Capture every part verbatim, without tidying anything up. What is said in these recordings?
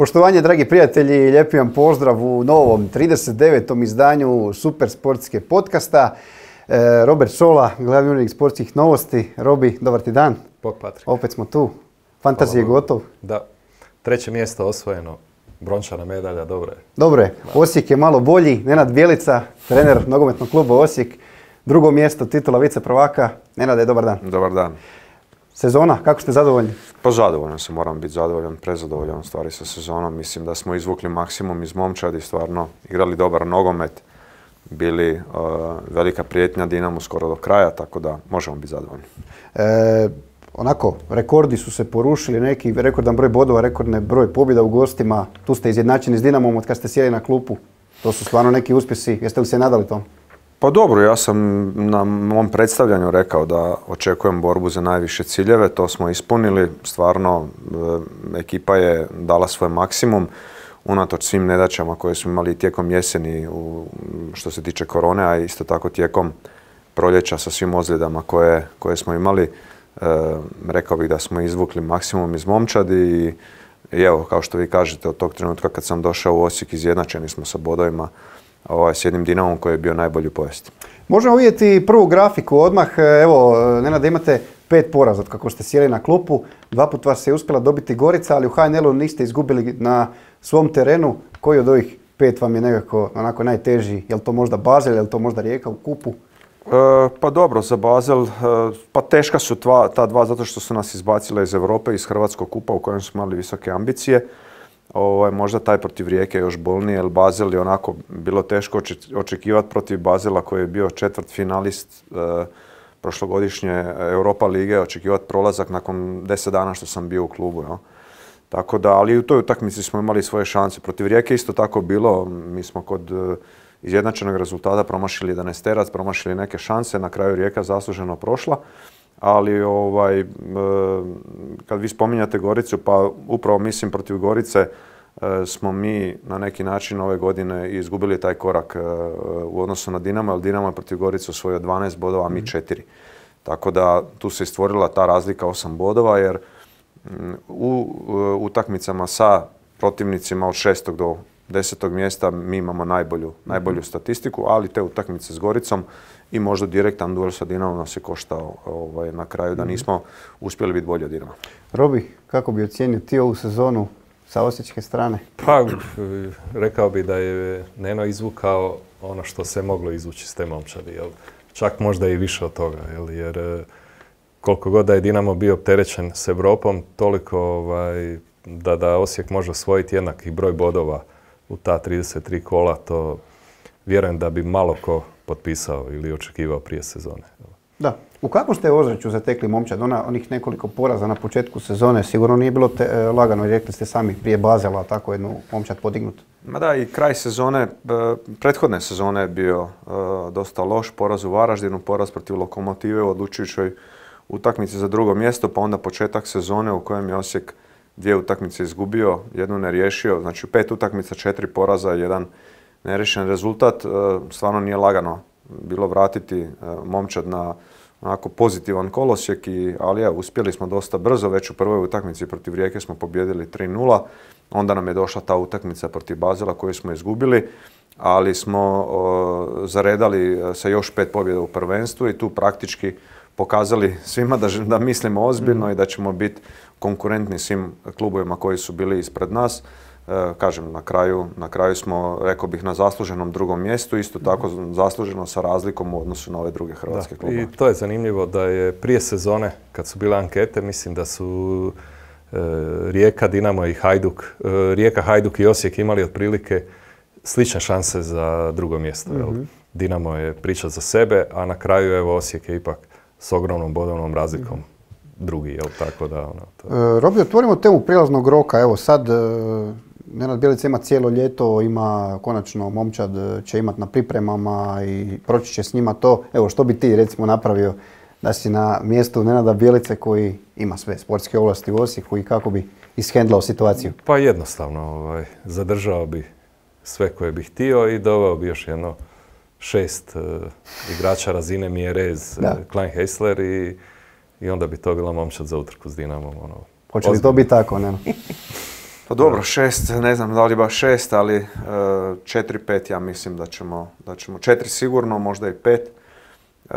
Poštovanje, dragi prijatelji, lijepi vam pozdrav u novom trideset devetom izdanju Super sportske podcasta. E, Robert Šola, glavni urednik sportskih novosti. Robi, dobar ti dan. Bog Patrik. Opet smo tu. Fantazije je gotov. Da. Treće mjesto osvojeno. Brončana medalja, dobro je. Dobro je. Osijek je malo bolji. Nenad Bjelica, trener nogometnog kluba Osijek. Drugo mjesto, titula vice prvaka. Nenade, dobar dan. Dobar dan. Sezona, kako ste zadovoljni? Pa zadovoljan sam, moram biti zadovoljan, prezadovoljan stvari sa sezonom. Mislim da smo izvukli maksimum iz momčadi, stvarno igrali dobar nogomet, bili uh, velika prijetnja Dinamu skoro do kraja, tako da možemo biti zadovoljni. E, onako, rekordi su se porušili, neki rekordan broj bodova, rekordne broj pobjeda u gostima. Tu ste izjednačeni s Dinamom od kad ste sjeli na klupu. To su stvarno neki uspjesi. Jeste li se nadali tom? Pa dobro, ja sam na mom predstavljanju rekao da očekujem borbu za najviše ciljeve, to smo ispunili, stvarno e, ekipa je dala svoj maksimum, unatoč svim nedaćama koje smo imali tijekom jeseni u, što se tiče korone, a isto tako tijekom proljeća sa svim ozljedama koje, koje smo imali, e, rekao bih da smo izvukli maksimum iz momčadi i, i evo, kao što vi kažete, od tog trenutka kad sam došao u Osijek izjednačeni smo sa bodovima Ovaj, s jednim Dinamom koji je bio najbolji u povijesti. Možemo vidjeti prvu grafiku odmah. Evo, Nenad, imate pet poraza od kako ste sjeli na klupu. Dva put vas je uspjela dobiti Gorica, ali u H N L-u niste izgubili na svom terenu. Koji od ovih pet vam je nekako onako najteži? Je li to možda Basel, je li to možda Rijeka u kupu? E, pa dobro, za Basel, e, pa teška su tva, ta dva zato što su nas izbacile iz Europe, iz Hrvatskog kupa u kojem smo imali visoke ambicije. Ovo, možda taj protiv Rijeke je još bolniji, jer Basel je onako bilo teško očekivati protiv Basela koji je bio četvrt finalist e, prošlogodišnje Europa lige, očekivati prolazak nakon deset dana što sam bio u klubu. Jo. Tako da, ali i u toj utakmici smo imali svoje šanse. Protiv Rijeke isto tako bilo, mi smo kod e, izjednačenog rezultata promašili jedanaesterac, promašili neke šanse, na kraju Rijeka zasluženo prošla. Ali ovaj, kad vi spominjate Goricu, pa upravo mislim protiv Gorice smo mi na neki način ove godine izgubili taj korak u odnosu na Dinamo, jer Dinamo je protiv Gorice osvojio dvanaest bodova, a mi četiri. Tako da tu se stvorila ta razlika osam bodova, jer u utakmicama sa protivnicima od šestog do desetog mjesta mi imamo najbolju, najbolju statistiku, ali te utakmice s Goricom i možda direktan duel sa Dinamom nas je koštao ovaj, na kraju da nismo uspjeli biti bolji od Dinama. Robi, kako bi ocijenio ti ovu sezonu sa osječke strane? Pa, rekao bi da je Neno izvukao ono što se moglo izvući s te momčadi. Jel? Čak možda i više od toga, jel? Jer koliko god da je Dinamo bio opterećen s Europom, toliko ovaj, da, da Osijek može osvojiti jednaki broj bodova u ta trideset tri kola, to vjerujem da bi malo ko potpisao ili očekivao prije sezone. Da. U kakvom ste ozračju zatekli momčad? Ona, onih nekoliko poraza na početku sezone sigurno nije bilo te, e, lagano, rekli ste sami prije Basela, tako jednu momčad podignuti. Ma da, i kraj sezone, prethodne sezone je bio e, dosta loš, poraz u Varaždinu, poraz protiv Lokomotive u odlučujućoj utakmici za drugo mjesto, pa onda početak sezone u kojem je Osijek dvije utakmice izgubio, jednu ne riješio, znači pet utakmica, četiri poraza, jedan neriješen rezultat. Stvarno nije lagano bilo vratiti momčad na onako pozitivan kolosijek, i, ali ja, uspjeli smo dosta brzo, već u prvoj utakmici protiv Rijeke smo pobijedili tri nula, onda nam je došla ta utakmica protiv Basela koju smo izgubili, ali smo o, zaredali sa još pet pobjeda u prvenstvu i tu praktički pokazali svima da, da mislimo ozbiljno mm. i da ćemo biti konkurentni svim klubovima koji su bili ispred nas. E, kažem, na kraju, na kraju smo, rekao bih, na zasluženom drugom mjestu, isto tako zasluženo sa razlikom u odnosu na ove druge hrvatske da, klubove. I to je zanimljivo da je prije sezone, kad su bile ankete, mislim da su e, Rijeka, Dinamo i Hajduk, e, Rijeka, Hajduk i Osijek imali otprilike slične šanse za drugo mjesto. Mm-hmm. Jel? Dinamo je priča za sebe, a na kraju evo Osijek je ipak s ogromnom bodovnom razlikom mm-hmm. drugi, jel tako da... Ono, to... e, Robi, otvorimo temu prilaznog roka. Evo sad, e, Nenad Bjelica ima cijelo ljeto, ima konačno momčad, će imati na pripremama i proći će s njima to. Evo, što bi ti recimo napravio da si na mjestu Nenada Bjelice koji ima sve sportske ovlasti u Osijeku i kako bi ishendlao situaciju? Pa jednostavno, ovaj, zadržao bi sve koje bih htio i doveo bi još jedno šest uh, igrača razine Mjerez, Klein Heisler i, i onda bi to bila momčad za utrku s Dinamom. Ono, Hoće li to biti tako, ne? Pa dobro, šest, ne znam da li baš šest, ali četiri, pet ja mislim da ćemo, da ćemo četiri sigurno, možda i pet. E,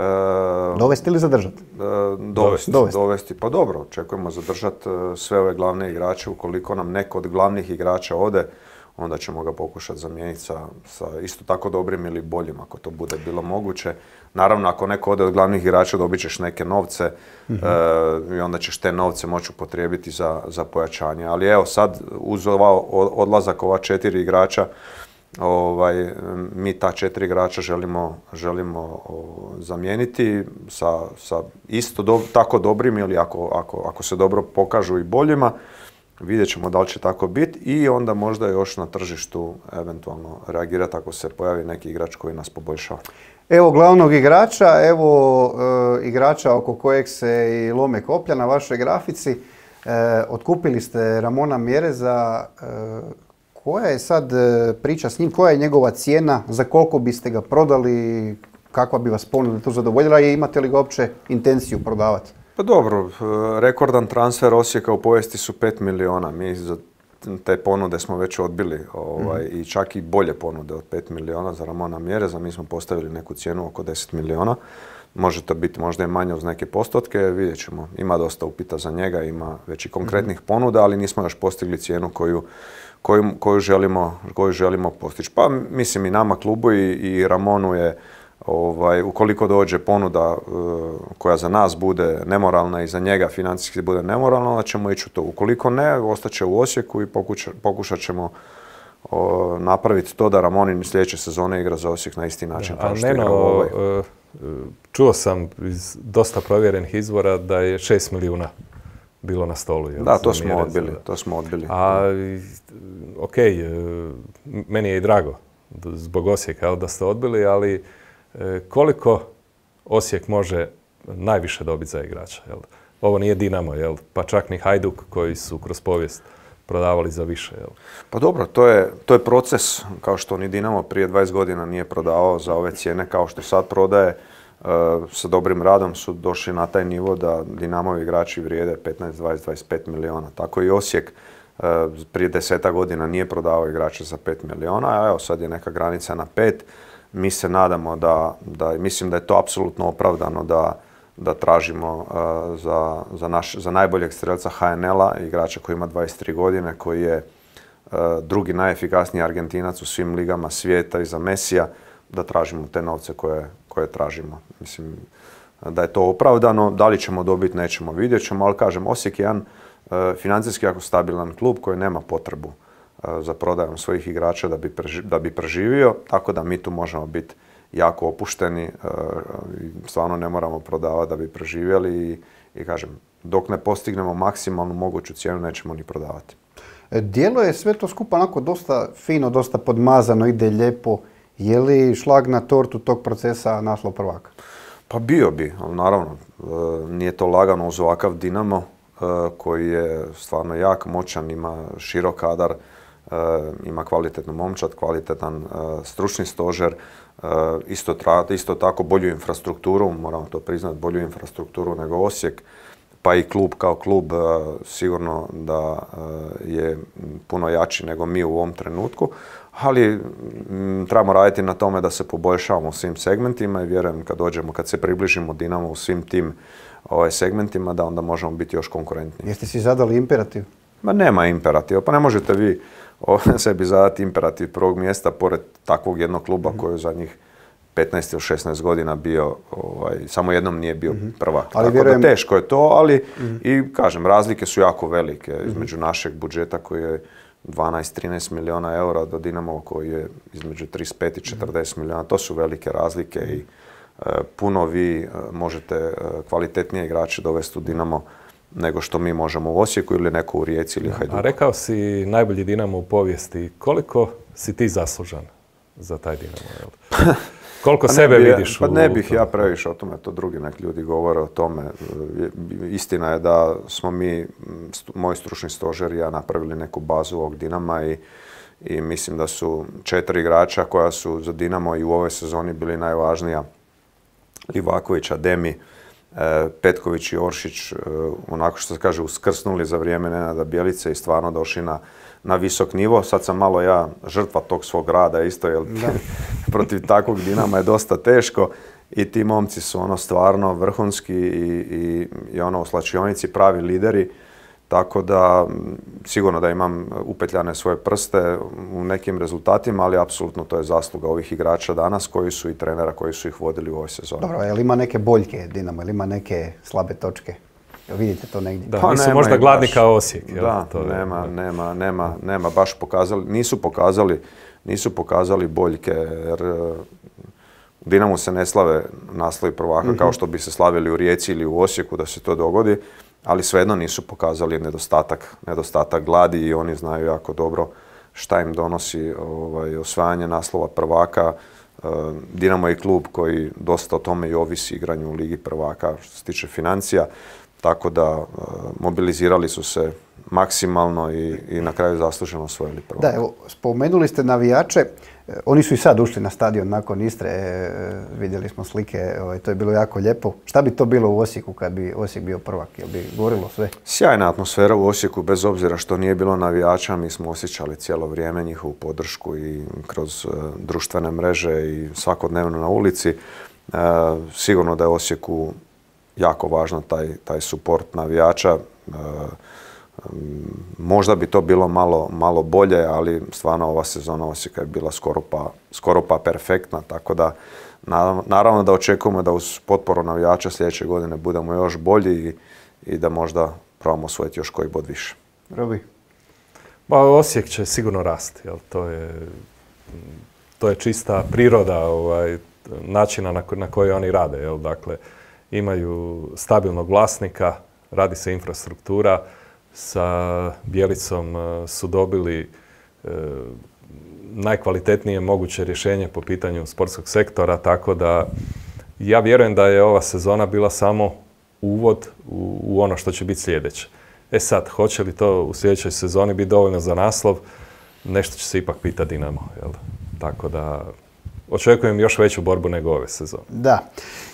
dovesti ili zadržati? E, dovesti, dovesti. dovesti. Pa dobro, očekujemo zadržati sve ove glavne igrače. Ukoliko nam neko od glavnih igrača ode, onda ćemo ga pokušati zamijeniti sa, sa isto tako dobrim ili boljim, ako to bude bilo moguće. Naravno, ako neko ode od glavnih igrača, dobit ćeš neke novce mm-hmm. e, i onda ćeš te novce moći upotrijebiti za, za pojačanje. Ali evo sad, uz ova odlazak ova četiri igrača, ovaj, mi ta četiri igrača želimo, želimo o, zamijeniti sa, sa isto do, tako dobrim ili ako, ako, ako se dobro pokažu i boljima. Vidjet ćemo da li će tako biti i onda možda još na tržištu eventualno reagirati ako se pojavi neki igrač koji nas poboljšava. Evo glavnog igrača, evo e, igrača oko kojeg se i lome koplja na vašoj grafici. E, otkupili ste Ramona Mjereza. E, koja je sad priča s njim? Koja je njegova cijena? Za koliko biste ga prodali? Kakva bi vas ponuda tu zadovoljila i imate li ga uopće intenciju prodavati? Pa dobro, rekordan transfer Osijeka u povijesti su pet miliona. Mi za te ponude smo već odbili ovaj, mm. i čak i bolje ponude od pet miliona za Ramona Mjereza. Mi smo postavili neku cijenu oko deset miliona. Može to biti možda i manje uz neke postotke, vidjet ćemo. Ima dosta upita za njega, ima već i konkretnih mm. ponuda, ali nismo još postigli cijenu koju, koju, koju, želimo, koju želimo postići. Pa mislim i nama klubu i, i Ramonu je Ovaj, ukoliko dođe ponuda uh, koja za nas bude nemoralna i za njega financijski bude nemoralna, onda ćemo ići u to. Ukoliko ne, ostaće u Osijeku i pokuša, pokušat ćemo uh, napraviti to da Ramonin sljedeće sezone igra za Osijek na isti način da, kao što Neno, igra ovaj. Uh, čuo sam iz dosta provjerenih izvora da je šest milijuna bilo na stolu. Jel, da, to smo odbili. To smo odbili. A, ok, uh, meni je i drago zbog Osijeka jel, da ste odbili, ali koliko Osijek može najviše dobiti za igrača? Jel? Ovo nije Dinamo, jel? Pa čak ni Hajduk koji su kroz povijest prodavali za više. Jel? Pa dobro, to je, to je proces, kao što ni Dinamo prije dvadeset godina nije prodavao za ove cijene kao što sad prodaje. E, sa dobrim radom su došli na taj nivo da Dinamovi igrači vrijede petnaest, dvadeset, dvadeset pet miliona. Tako i Osijek e, prije deseta godina nije prodavao igrače za pet miliona, a evo sad je neka granica na pet. Mi se nadamo da, da mislim da je to apsolutno opravdano da, da tražimo uh, za, za, naš, za najboljeg strelca H N L-a, igrača koji ima dvadeset tri godine, koji je uh, drugi najefikasniji Argentinac u svim ligama svijeta iza Mesija, da tražimo te novce koje, koje tražimo. Mislim da je to opravdano. Da li ćemo dobiti, nećemo, vidjet ćemo, ali kažem, Osijek je jedan uh, financijski jako stabilan klub koji nema potrebu za prodajom svojih igrača da bi, preži, da bi preživio, tako da mi tu možemo biti jako opušteni i stvarno ne moramo prodavati da bi preživjeli i, i kažem, dok ne postignemo maksimalnu moguću cijenu nećemo ni prodavati. Djelo je sve to skupa onako dosta fino, dosta podmazano, ide lijepo. Je li šlag na tortu tog procesa naslov prvaka? Pa bio bi, ali naravno nije to lagano uz ovakav Dinamo koji je stvarno jak, moćan, ima širok kadar, Uh, ima kvalitetnu momčad, kvalitetan uh, stručni stožer, uh, isto, tra, isto tako bolju infrastrukturu, moramo to priznati, bolju infrastrukturu nego Osijek, pa i klub kao klub uh, sigurno da uh, je puno jači nego mi u ovom trenutku, ali m, trebamo raditi na tome da se poboljšavamo u svim segmentima i vjerujem kad dođemo, kad se približimo Dinamo u svim tim ovaj, segmentima, da onda možemo biti još konkurentniji. Jeste si zadali imperativ? Ma nema imperativa, pa ne možete vi sebi zadati imperativ prvog mjesta pored takvog jednog kluba mm-hmm. koji je zadnjih petnaest ili šesnaest godina bio, ovaj, samo jednom nije bio mm-hmm. prvak. Ali tako vjerujem... da teško je to, ali mm-hmm. i kažem, razlike su jako velike mm-hmm. između našeg budžeta koji je dvanaest trinaest milijuna eura do Dinamo koji je između trideset pet i četrdeset mm-hmm. milijuna. To su velike razlike mm-hmm. i uh, puno vi uh, možete uh, kvalitetnije igrače dovesti u Dinamo nego što mi možemo u Osijeku ili neko u Rijeci ili Hajduku. A rekao si najbolji Dinamo u povijesti. Koliko si ti zaslužan za taj Dinamo? Koliko pa sebe bi, vidiš pa u... Pa ne bih ja previše o tome, to drugi nek ljudi govore o tome. Istina je da smo mi, moj stručni stožer i ja napravili neku bazu ovog Dinama i, i mislim da su četiri igrača koja su za Dinamo i u ovoj sezoni bili najvažnija. Livaković, Ademi, Petković i Oršić, onako što se kaže, uskrsnuli za vrijeme Nenada Bjelice i stvarno došli na, na visok nivo. Sad sam malo ja žrtva tog svog rada isto, jer protiv takvog Dinama je dosta teško. I ti momci su ono stvarno vrhunski i, i, i ono u slačionici pravi lideri. Tako da sigurno da imam upetljane svoje prste u nekim rezultatima, ali apsolutno to je zasluga ovih igrača danas koji su i trenera koji su ih vodili u ovoj sezoni. Dobro, je li ima neke boljke Dinamo, ili ima neke slabe točke? Jel vidite to negdje? Da, pa nisu nema možda ih gladni baš. kao Osijek. Jel? Da, To je- nema, nema, nema, nema baš pokazali, nisu pokazali, nisu pokazali boljke, jer uh, u Dinamu se ne slave naslovi prvaka Mhm. kao što bi se slavili u Rijeci ili u Osijeku da se to dogodi, ali svejedno nisu pokazali nedostatak, nedostatak gladi i oni znaju jako dobro šta im donosi ovaj, osvajanje naslova prvaka. Uh, Dinamo je klub koji dosta o tome i ovisi igranju u Ligi prvaka što se tiče financija, tako da uh, mobilizirali su se maksimalno i, i na kraju zasluženo osvojili prvaka. Da, evo, spomenuli ste navijače, e, oni su i sad ušli na stadion nakon Istre, e, vidjeli smo slike, ovaj, to je bilo jako lijepo. Šta bi to bilo u Osijeku kad bi Osijek bio prvak, jel bi gorilo sve? Sjajna atmosfera u Osijeku, bez obzira što nije bilo navijača, mi smo osjećali cijelo vrijeme njihovu podršku i kroz uh, društvene mreže i svakodnevno na ulici. Uh, sigurno da je Osijeku jako važno taj, taj suport navijača. Uh, um, možda bi to bilo malo, malo bolje, ali stvarno ova sezona Osijeka je bila skoro pa, skoro pa perfektna, tako da naravno, naravno da očekujemo da uz potporu navijača sljedeće godine budemo još bolji i, i da možda probamo osvojiti još koji bod više. Robi? Pa Osijek će sigurno rasti, jel? To je, to je čista priroda ovaj, načina na, ko- na koji oni rade. Jel? Dakle, imaju stabilnog vlasnika, radi se infrastruktura, sa Bjelicom eh, su dobili eh, najkvalitetnije moguće rješenje po pitanju sportskog sektora, tako da ja vjerujem da je ova sezona bila samo uvod u, u ono što će biti sljedeće. E sad, hoće li to u sljedećoj sezoni biti dovoljno za naslov, nešto će se ipak pitati Dinamo. Jel? Tako da očekujem još veću borbu nego ove sezone. Da.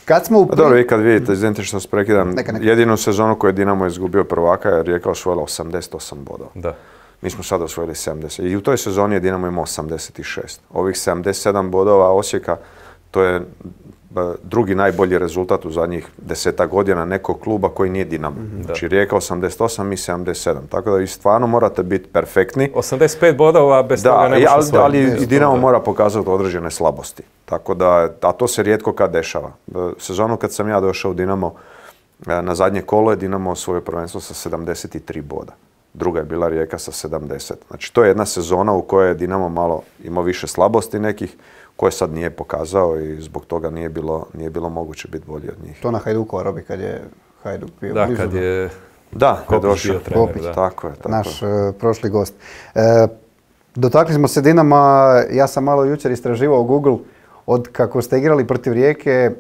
Kad smo u... Pa dobro, vi kad vidite, izvinite što se prekidam, Neka, neka. jedinu sezonu koju je Dinamo izgubio prvaka je Rijeka osvojila osamdeset osam bodova. Da. Mi smo sad osvojili sedamdeset. I u toj sezoni je Dinamo imao osamdeset šest. Ovih sedamdeset sedam bodova Osijeka, to je ba, drugi najbolji rezultat u zadnjih desetak godina nekog kluba koji nije Dinamo. Znači Rijeka osamdeset osam, mi sedamdeset sedam. Tako da vi stvarno morate biti perfektni. osamdeset pet bodova, bez Da, toga ne i- možeš ali, osvojiti. ali i Dinamo mora pokazati određene slabosti. Tako da, a to se rijetko kad dešava. E, Sezonu kad sam ja došao u Dinamo, e, na zadnje kolo je Dinamo osvojio prvenstvo sa sedamdeset tri boda. Druga je bila Rijeka sa sedamdeset. Znači to je jedna sezona u kojoj je Dinamo malo imao više slabosti nekih, koje sad nije pokazao i zbog toga nije bilo, nije bilo moguće biti bolji od njih. To na Hajdukova, Robi, kad je Hajduk bio Da, blizu. kad je Da, kad je Kopić došao. bio trener, Kopić. da. Tako je, tako Naš je. e, prošli gost. E, dotakli smo se Dinama, ja sam malo jučer istraživao Google, od kako ste igrali protiv Rijeke, e,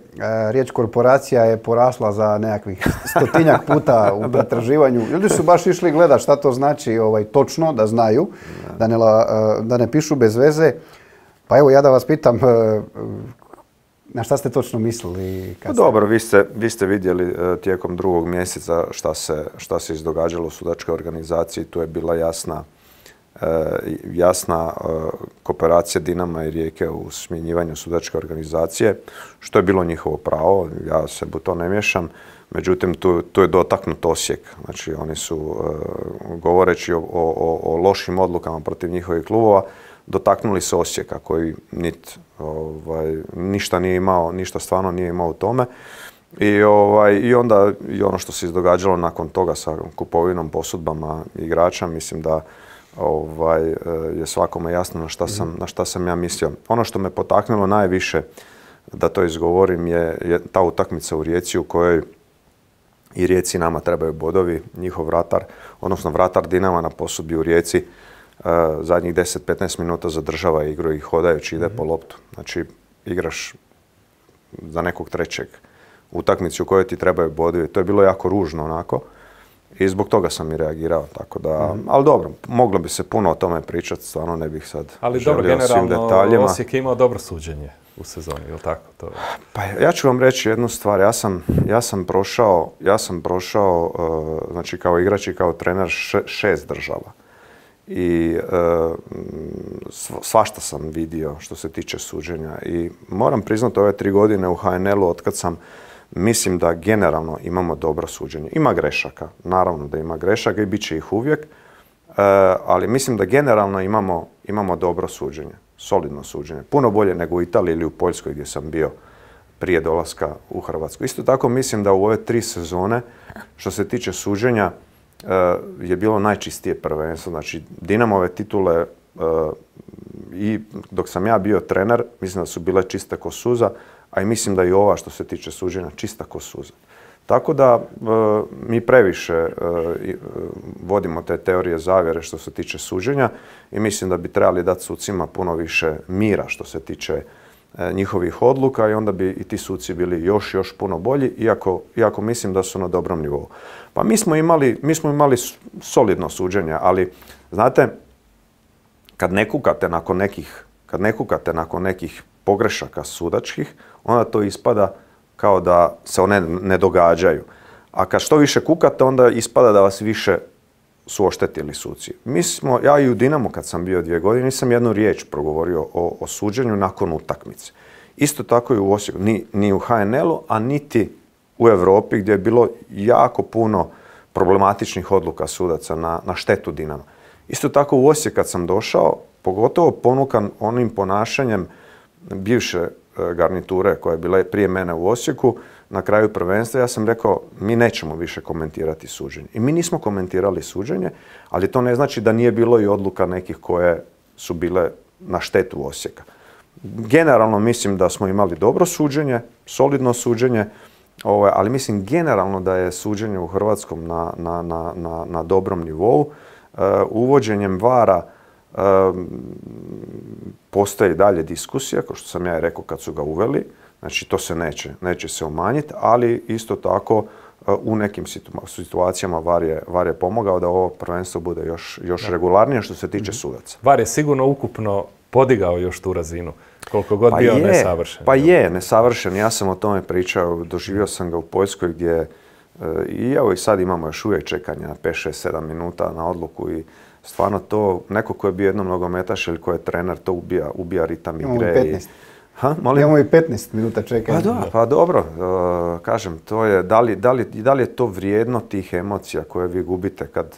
riječ korporacija je porasla za nekakvih stotinjak puta u pretraživanju. Ljudi su baš išli gledati šta to znači ovaj, točno, da znaju, da ne, la- e, da ne pišu bez veze. Pa evo ja da vas pitam, e, na šta ste točno mislili? Pa Kad ste- dobro, vi ste, vi ste vidjeli e, tijekom drugog mjeseca šta se, šta se izdogađalo u sudačkoj organizaciji. Tu je bila jasna, e, jasna e, kooperacija Dinama i Rijeke u smjenjivanju sudačke organizacije, što je bilo njihovo pravo. Ja se u to ne miješam. Međutim, tu, tu je dotaknut Osijek. Znači, oni su, e, govoreći o, o, o lošim odlukama protiv njihovih klubova, dotaknuli se Osijeka koji nit, ovaj, ništa nije imao, ništa stvarno nije imao u tome. I, ovaj, i onda i ono što se izdogađalo nakon toga sa kupovinom, posudbama igrača, mislim da ovaj, je svakome jasno na šta sam, na šta sam ja mislio. Ono što me potaknulo najviše da to izgovorim je, je ta utakmica u Rijeci u kojoj i Rijeci nama trebaju bodovi. Njihov vratar, odnosno vratar Dinama na posudbi u Rijeci, Uh, zadnjih deset do petnaest minuta zadržava igru i hodajući ide po loptu. Znači, igraš za nekog trećeg utakmicu u kojoj ti trebaju bodovi. To je bilo jako ružno onako i zbog toga sam i reagirao. Tako da, ali dobro, moglo bi se puno o tome pričati, stvarno ne bih sad Ali dobro, želio o svim generalno detaljima. Osijek je imao dobro suđenje u sezoni, je li tako? To... Pa ja ću vam reći jednu stvar. Ja sam, ja sam prošao, ja sam prošao uh, znači kao igrač i kao trener š- šest država. i e, svašta sam vidio što se tiče suđenja. I moram priznati ove tri godine u H N L-u otkad sam, mislim da generalno imamo dobro suđenje. Ima grešaka, naravno da ima grešaka i bit će ih uvijek, e, ali mislim da generalno imamo, imamo dobro suđenje, solidno suđenje. Puno bolje nego u Italiji ili u Poljskoj gdje sam bio prije dolaska u Hrvatsku. Isto tako mislim da u ove tri sezone, što se tiče suđenja, je bilo najčistije prvenstvo. Znači, Dinamove titule i dok sam ja bio trener, mislim da su bile čiste ko suza, a i mislim da i ova što se tiče suđenja čista ko suza. Tako da mi previše vodimo te teorije zavjere što se tiče suđenja i mislim da bi trebali dati sucima puno više mira što se tiče njihovih odluka i onda bi i ti suci bili još, još puno bolji, iako, iako mislim da su na dobrom nivou. Pa mi smo imali, mi smo imali solidno suđenje, ali znate, kad ne kukate nakon nekih, kad ne kukate nakon nekih pogrešaka sudačkih, onda to ispada kao da se one ne događaju. A kad što više kukate, onda ispada da vas više su oštetili suci. Mi smo, ja i u Dinamu kad sam bio dvije godine, nisam jednu riječ progovorio o, o suđenju nakon utakmice. Isto tako i u Osijeku, ni, ni u H N L-u, a niti u Europi gdje je bilo jako puno problematičnih odluka sudaca na, na štetu Dinama. Isto tako u Osijek kad sam došao, pogotovo ponukan onim ponašanjem bivše garniture koja je bila prije mene u Osijeku, na kraju prvenstva ja sam rekao mi nećemo više komentirati suđenje. I mi nismo komentirali suđenje, ali to ne znači da nije bilo i odluka nekih koje su bile na štetu Osijeka. Generalno mislim da smo imali dobro suđenje, solidno suđenje, ali mislim generalno da je suđenje u Hrvatskom na, na, na, na, na dobrom nivou. Uvođenjem vara postoji dalje diskusija, kao što sam ja rekao kad su ga uveli. Znači to se neće, neće se umanjiti, ali isto tako u nekim situacijama VAR je, VAR je pomogao da ovo prvenstvo bude još, još regularnije što se tiče sudaca. VAR je sigurno ukupno podigao još tu razinu, koliko god pa bio je, nesavršen. Pa je, nesavršen. Ja sam o tome pričao, doživio sam ga u Poljskoj gdje i evo i sad imamo još uvijek čekanja pet, šest, sedam minuta na odluku i stvarno to, neko ko je bio jednom nogometaš ili ko je trener, to ubija, ubija ritam igre. I Ha, molim? Imamo i petnaest minuta čekanja. Pa, do, pa dobro, uh, kažem, to je, da li, da, li, da li je to vrijedno tih emocija koje vi gubite kad,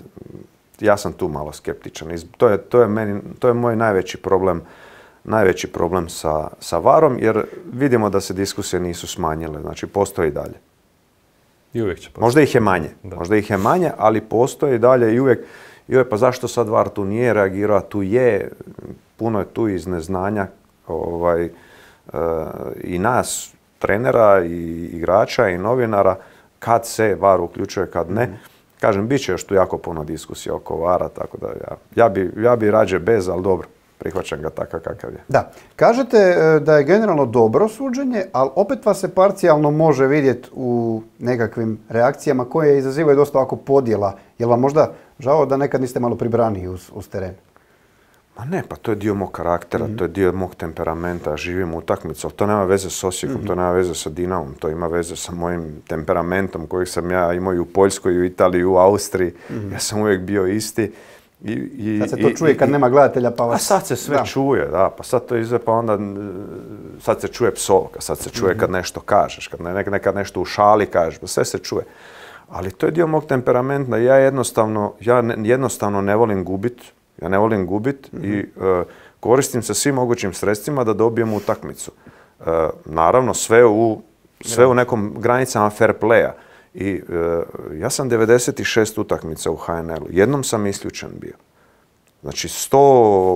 ja sam tu malo skeptičan. To je, to je, meni, to je moj najveći problem, najveći problem sa, sa varom, jer vidimo da se diskusije nisu smanjile, znači postoje i dalje. I uvijek će postoji. Možda ih je manje, Da. možda ih je manje, ali postoje i dalje i uvijek, i uvijek, pa zašto sad var tu nije reagirao, tu je, puno je tu iz neznanja, ovaj, i nas, trenera, i igrača, i novinara, kad se VAR uključuje, kad ne. Kažem, bit će još tu jako puno diskusija oko vara, tako da ja, ja, bi, ja bi rađe bez, ali dobro, prihvaćam ga takav kakav je. Da. Kažete da je generalno dobro suđenje, ali opet vas se parcijalno može vidjeti u nekakvim reakcijama koje izazivaju dosta ovako podjela. Je li vam možda žao da nekad niste malo pribraniji uz, uz teren? Ma ne, pa to je dio mog karaktera, mm-hmm. to je dio mog temperamenta, živim utakmicu, ali to nema veze s Osijekom, mm-hmm. to nema veze sa Dinamom, to ima veze sa mojim temperamentom kojeg sam ja imao i u Poljskoj, i u Italiji, i u Austriji. Mm-hmm. Ja sam uvijek bio isti. I, i, sad se to čuje i, kad i, nema gledatelja pa vas... A sad se sve da. čuje, da, pa sad to izve, pa onda sad se čuje psovka, sad se čuje mm-hmm. kad nešto kažeš, kad ne, nekad nešto u šali kažeš, pa sve se čuje. Ali to je dio mog temperamenta, ja jednostavno, ja ne, jednostavno ne volim gubiti. Ja ne volim gubit mm-hmm. i uh, koristim se svim mogućim sredstvima da dobijem utakmicu. Uh, naravno, sve u, sve u nekom granicama fair playa. I uh, ja sam devedeset šest utakmica u H N L-u. Jednom sam isključen bio. Znači, sto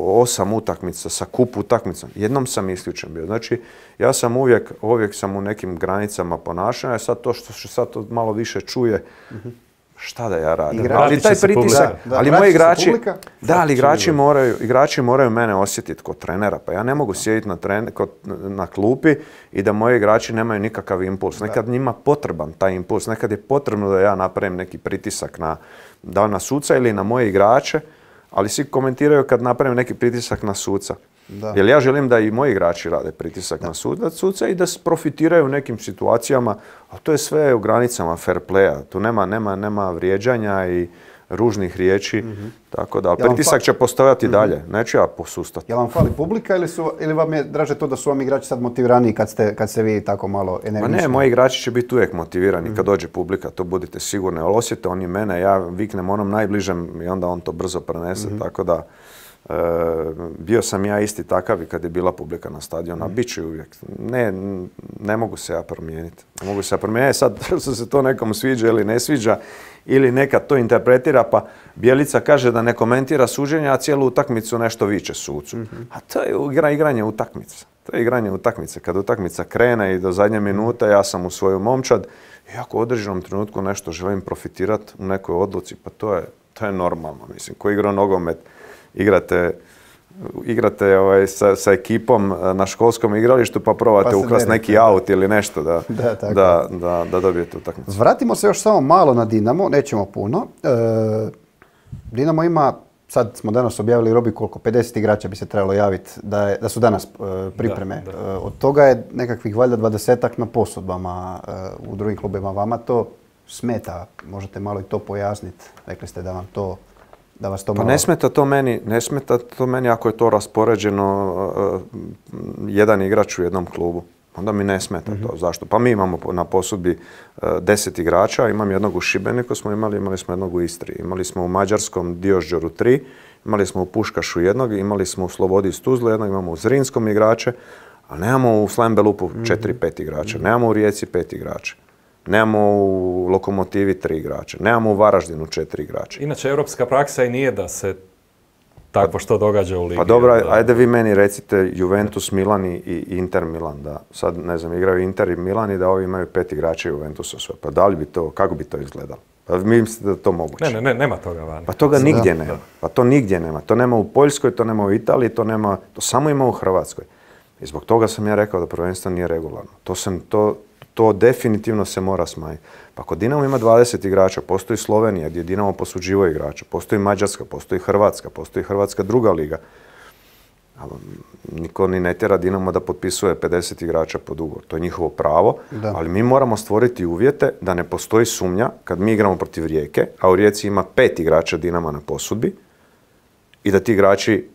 osam utakmica sa kup utakmicom. Jednom sam isključen bio. Znači, ja sam uvijek, uvijek sam u nekim granicama ponašanja. Sad to što se sad to malo više čuje, mm-hmm. šta da ja radim? Igrači ali taj pritisak, da, ali moji igrači, da, ali igrači moraju, igrači moraju mene osjetiti kod trenera. Pa ja ne mogu sjediti na, tren, kod, na klupi i da moji igrači nemaju nikakav impuls. Nekad njima potreban taj impuls, nekad je potrebno da ja napravim neki pritisak na, da na suca ili na moje igrače, ali svi komentiraju kad napravim neki pritisak na suca. Da. Jer ja želim da i moji igrači rade pritisak da. na suca i da profitiraju u nekim situacijama, a to je sve u granicama fair playa. Tu nema, nema, nema vrijeđanja i ružnih riječi, mm-hmm. tako da, ali Jel vam pritisak fa- će postojati mm-hmm. dalje, neću ja posustati. Jel vam fali publika ili, su, ili vam je draže to da su vam igrači sad motiviraniji kad ste, kad ste vi tako malo energični? Ma ne, moji igrači će biti uvijek motivirani mm-hmm. kad dođe publika, to budite sigurni, ali osjete oni mene, ja viknem onom najbližem i onda on to brzo prenese, mm-hmm. tako da e, bio sam ja isti takav i kad je bila publika na stadionu, a bit ću uvijek. Ne, ne mogu se ja promijeniti. Ne mogu se ja promijeniti. Sad, što se to nekom sviđa ili ne sviđa, ili nekad to interpretira, pa Bjelica kaže da ne komentira suđenja, a cijelu utakmicu nešto viče sucu. Mm-hmm. A to je igra, igranje utakmice. To je igranje utakmice. Kad utakmica krene i do zadnje minute, ja sam u svoju momčad i ako u određenom trenutku nešto želim profitirati u nekoj odluci, pa to je, to je normalno. Mislim, ko igra nogomet, igrate, igrate ovaj, sa, sa ekipom na školskom igralištu pa probate pa ukrasti neki aut ili nešto da, da, da, da, da dobijete utakmicu. Vratimo se još samo malo na Dinamo, nećemo puno. E, Dinamo ima, sad smo danas objavili Robi koliko, pedeset igrača bi se trebalo javiti da, je, da su danas e, pripreme. Da, da. E, od toga je nekakvih valjda dvadesetak na posudbama e, u drugim klubima. Vama to smeta, možete malo i to pojasniti. Rekli ste da vam to Da vas to pa malo... ne smeta to meni, ne smeta to meni ako je to raspoređeno uh, jedan igrač u jednom klubu. Onda mi ne smeta mm-hmm. to. Zašto? Pa mi imamo na posudbi uh, deset igrača, imam jednog u Šibeniku smo imali, imali smo jednog u Istri. Imali smo u Mađarskom Diožđoru tri, imali smo u Puškašu jednog, imali smo u Slobodi iz Tuzle jednog, imamo u Zrinskom igrače, a nemamo u Slambelupu četiri pet igrača, mm-hmm. nemamo u Rijeci pet igrača. Nemamo u Lokomotivi tri igrača, nemamo u Varaždinu četiri igrača. Inače, europska praksa i nije da se takvo što događa u ligi. Pa dobro, da... ajde vi meni recite Juventus, Milan i Inter Milan, da sad, ne znam, igraju Inter i Milan i da ovi imaju pet igrača Juventusa sve. Pa da li bi to, kako bi to izgledalo? Pa mi mislite da je to moguće? Ne, ne, ne, nema toga vani. Pa toga nigdje da, nema. Da. Pa to nigdje nema. To nema u Poljskoj, to nema u Italiji, to nema, to samo ima u Hrvatskoj. I zbog toga sam ja rekao da prvenstvo nije regularno. To sam, to, to definitivno se mora smanjiti. Pa kod Dinamo ima dvadeset igrača, postoji Slovenija gdje Dinamo posuđivao igrača, postoji Mađarska, postoji Hrvatska, postoji Hrvatska druga liga. Niko ni ne tjera Dinamo da potpisuje pedeset igrača pod ugovor. To je njihovo pravo, da. Ali mi moramo stvoriti uvjete da ne postoji sumnja kad mi igramo protiv Rijeke, a u Rijeci ima pet igrača Dinama na posudbi i da ti igrači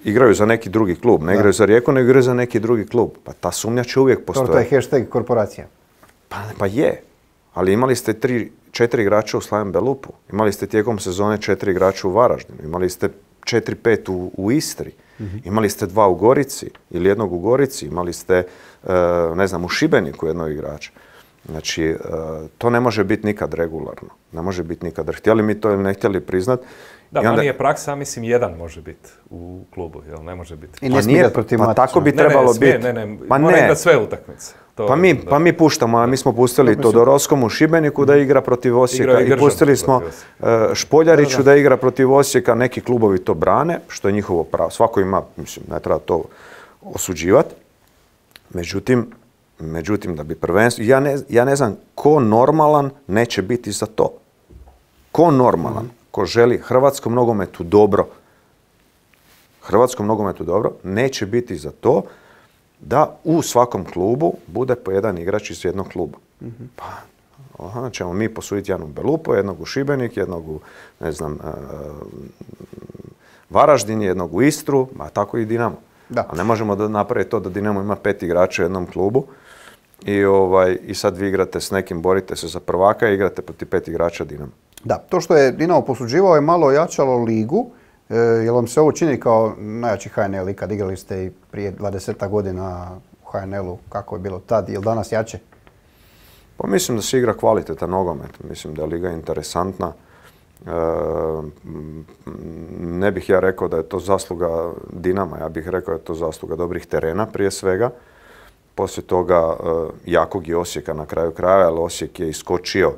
igraju za neki drugi klub. Ne da. Igraju za Rijeku, nego igraju za neki drugi klub. Pa ta sumnja će uvijek postojati. To je hashtag korporacija. Pa, pa je. Ali imali ste tri, četiri igrača u Slaven Belupu. Imali ste tijekom sezone četiri igrača u Varaždinu. Imali ste četiri, pet u, u Istri. Mm-hmm. Imali ste dva u Gorici ili jednog u Gorici. Imali ste, uh, ne znam, u Šibeniku jednog igrača. Znači, uh, to ne može biti nikad regularno. Ne može biti nikad. Htjeli mi to ili ne htjeli priznat. Da, onda... nije praksa, mislim, jedan može biti u klubu, jel? Ne može biti. I ne smije igrati protiv Pa tako bi trebalo biti. Ne, ne, ne, pa mora igrati sve utakmice. To, pa, mi, pa mi puštamo, a mi smo pustili da, Todorovskom u Šibeniku da igra protiv Osijeka i, i pustili smo uh, Špoljariću da, da. da igra protiv Osijeka. Neki klubovi to brane, što je njihovo pravo. Svako ima, mislim, ne treba to osuđivati. Međutim, međutim, da bi prvenstvo... Ja ne, ja ne znam ko normalan neće biti za to. Ko normalan, mm. ko želi hrvatskom nogometu dobro, hrvatskom nogometu dobro, neće biti za to da u svakom klubu bude po jedan igrač iz jednog kluba. Mm-hmm. Pa, aha, ćemo mi posuditi jednog Belupo, jednog u Šibenik, jednog u, ne znam, uh, Varaždin, jednog u Istru, a tako i Dinamo. Da. A ne možemo da napraviti to da Dinamo ima pet igrača u jednom klubu i, ovaj, i sad vi igrate s nekim, borite se za prvaka i igrate protiv pet igrača Dinamo. Da, to što je Dinamo posuđivao je malo ojačalo ligu. E, jel vam se ovo čini kao najjači H N L i kad igrali ste i prije dvadeset godina u H N L-u, kako je bilo tad, je li danas jače? Pa mislim da se igra kvalitetan nogomet, mislim da je liga interesantna. E, ne bih ja rekao da je to zasluga Dinama, ja bih rekao da je to zasluga dobrih terena prije svega. Poslije toga e, jakog i Osijeka na kraju kraja, ali Osijek je iskočio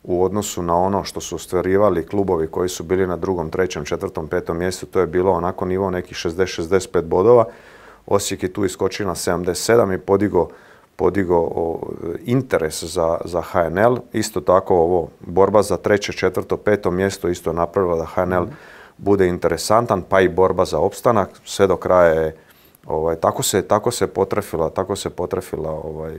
u odnosu na ono što su ostvarivali klubovi koji su bili na drugom, trećem, četvrtom, petom mjestu. To je bilo onako nivo nekih šezdeset šezdeset pet bodova. Osijek je tu iskočio na sedamdeset sedam i podigo, podigo o, interes za, za H N L. Isto tako ovo borba za treće, četvrto, peto mjesto isto je napravila da H N L mm. bude interesantan, pa i borba za opstanak. Sve do kraja je, ovaj, tako se, tako se potrefila, tako se potrefila ovaj,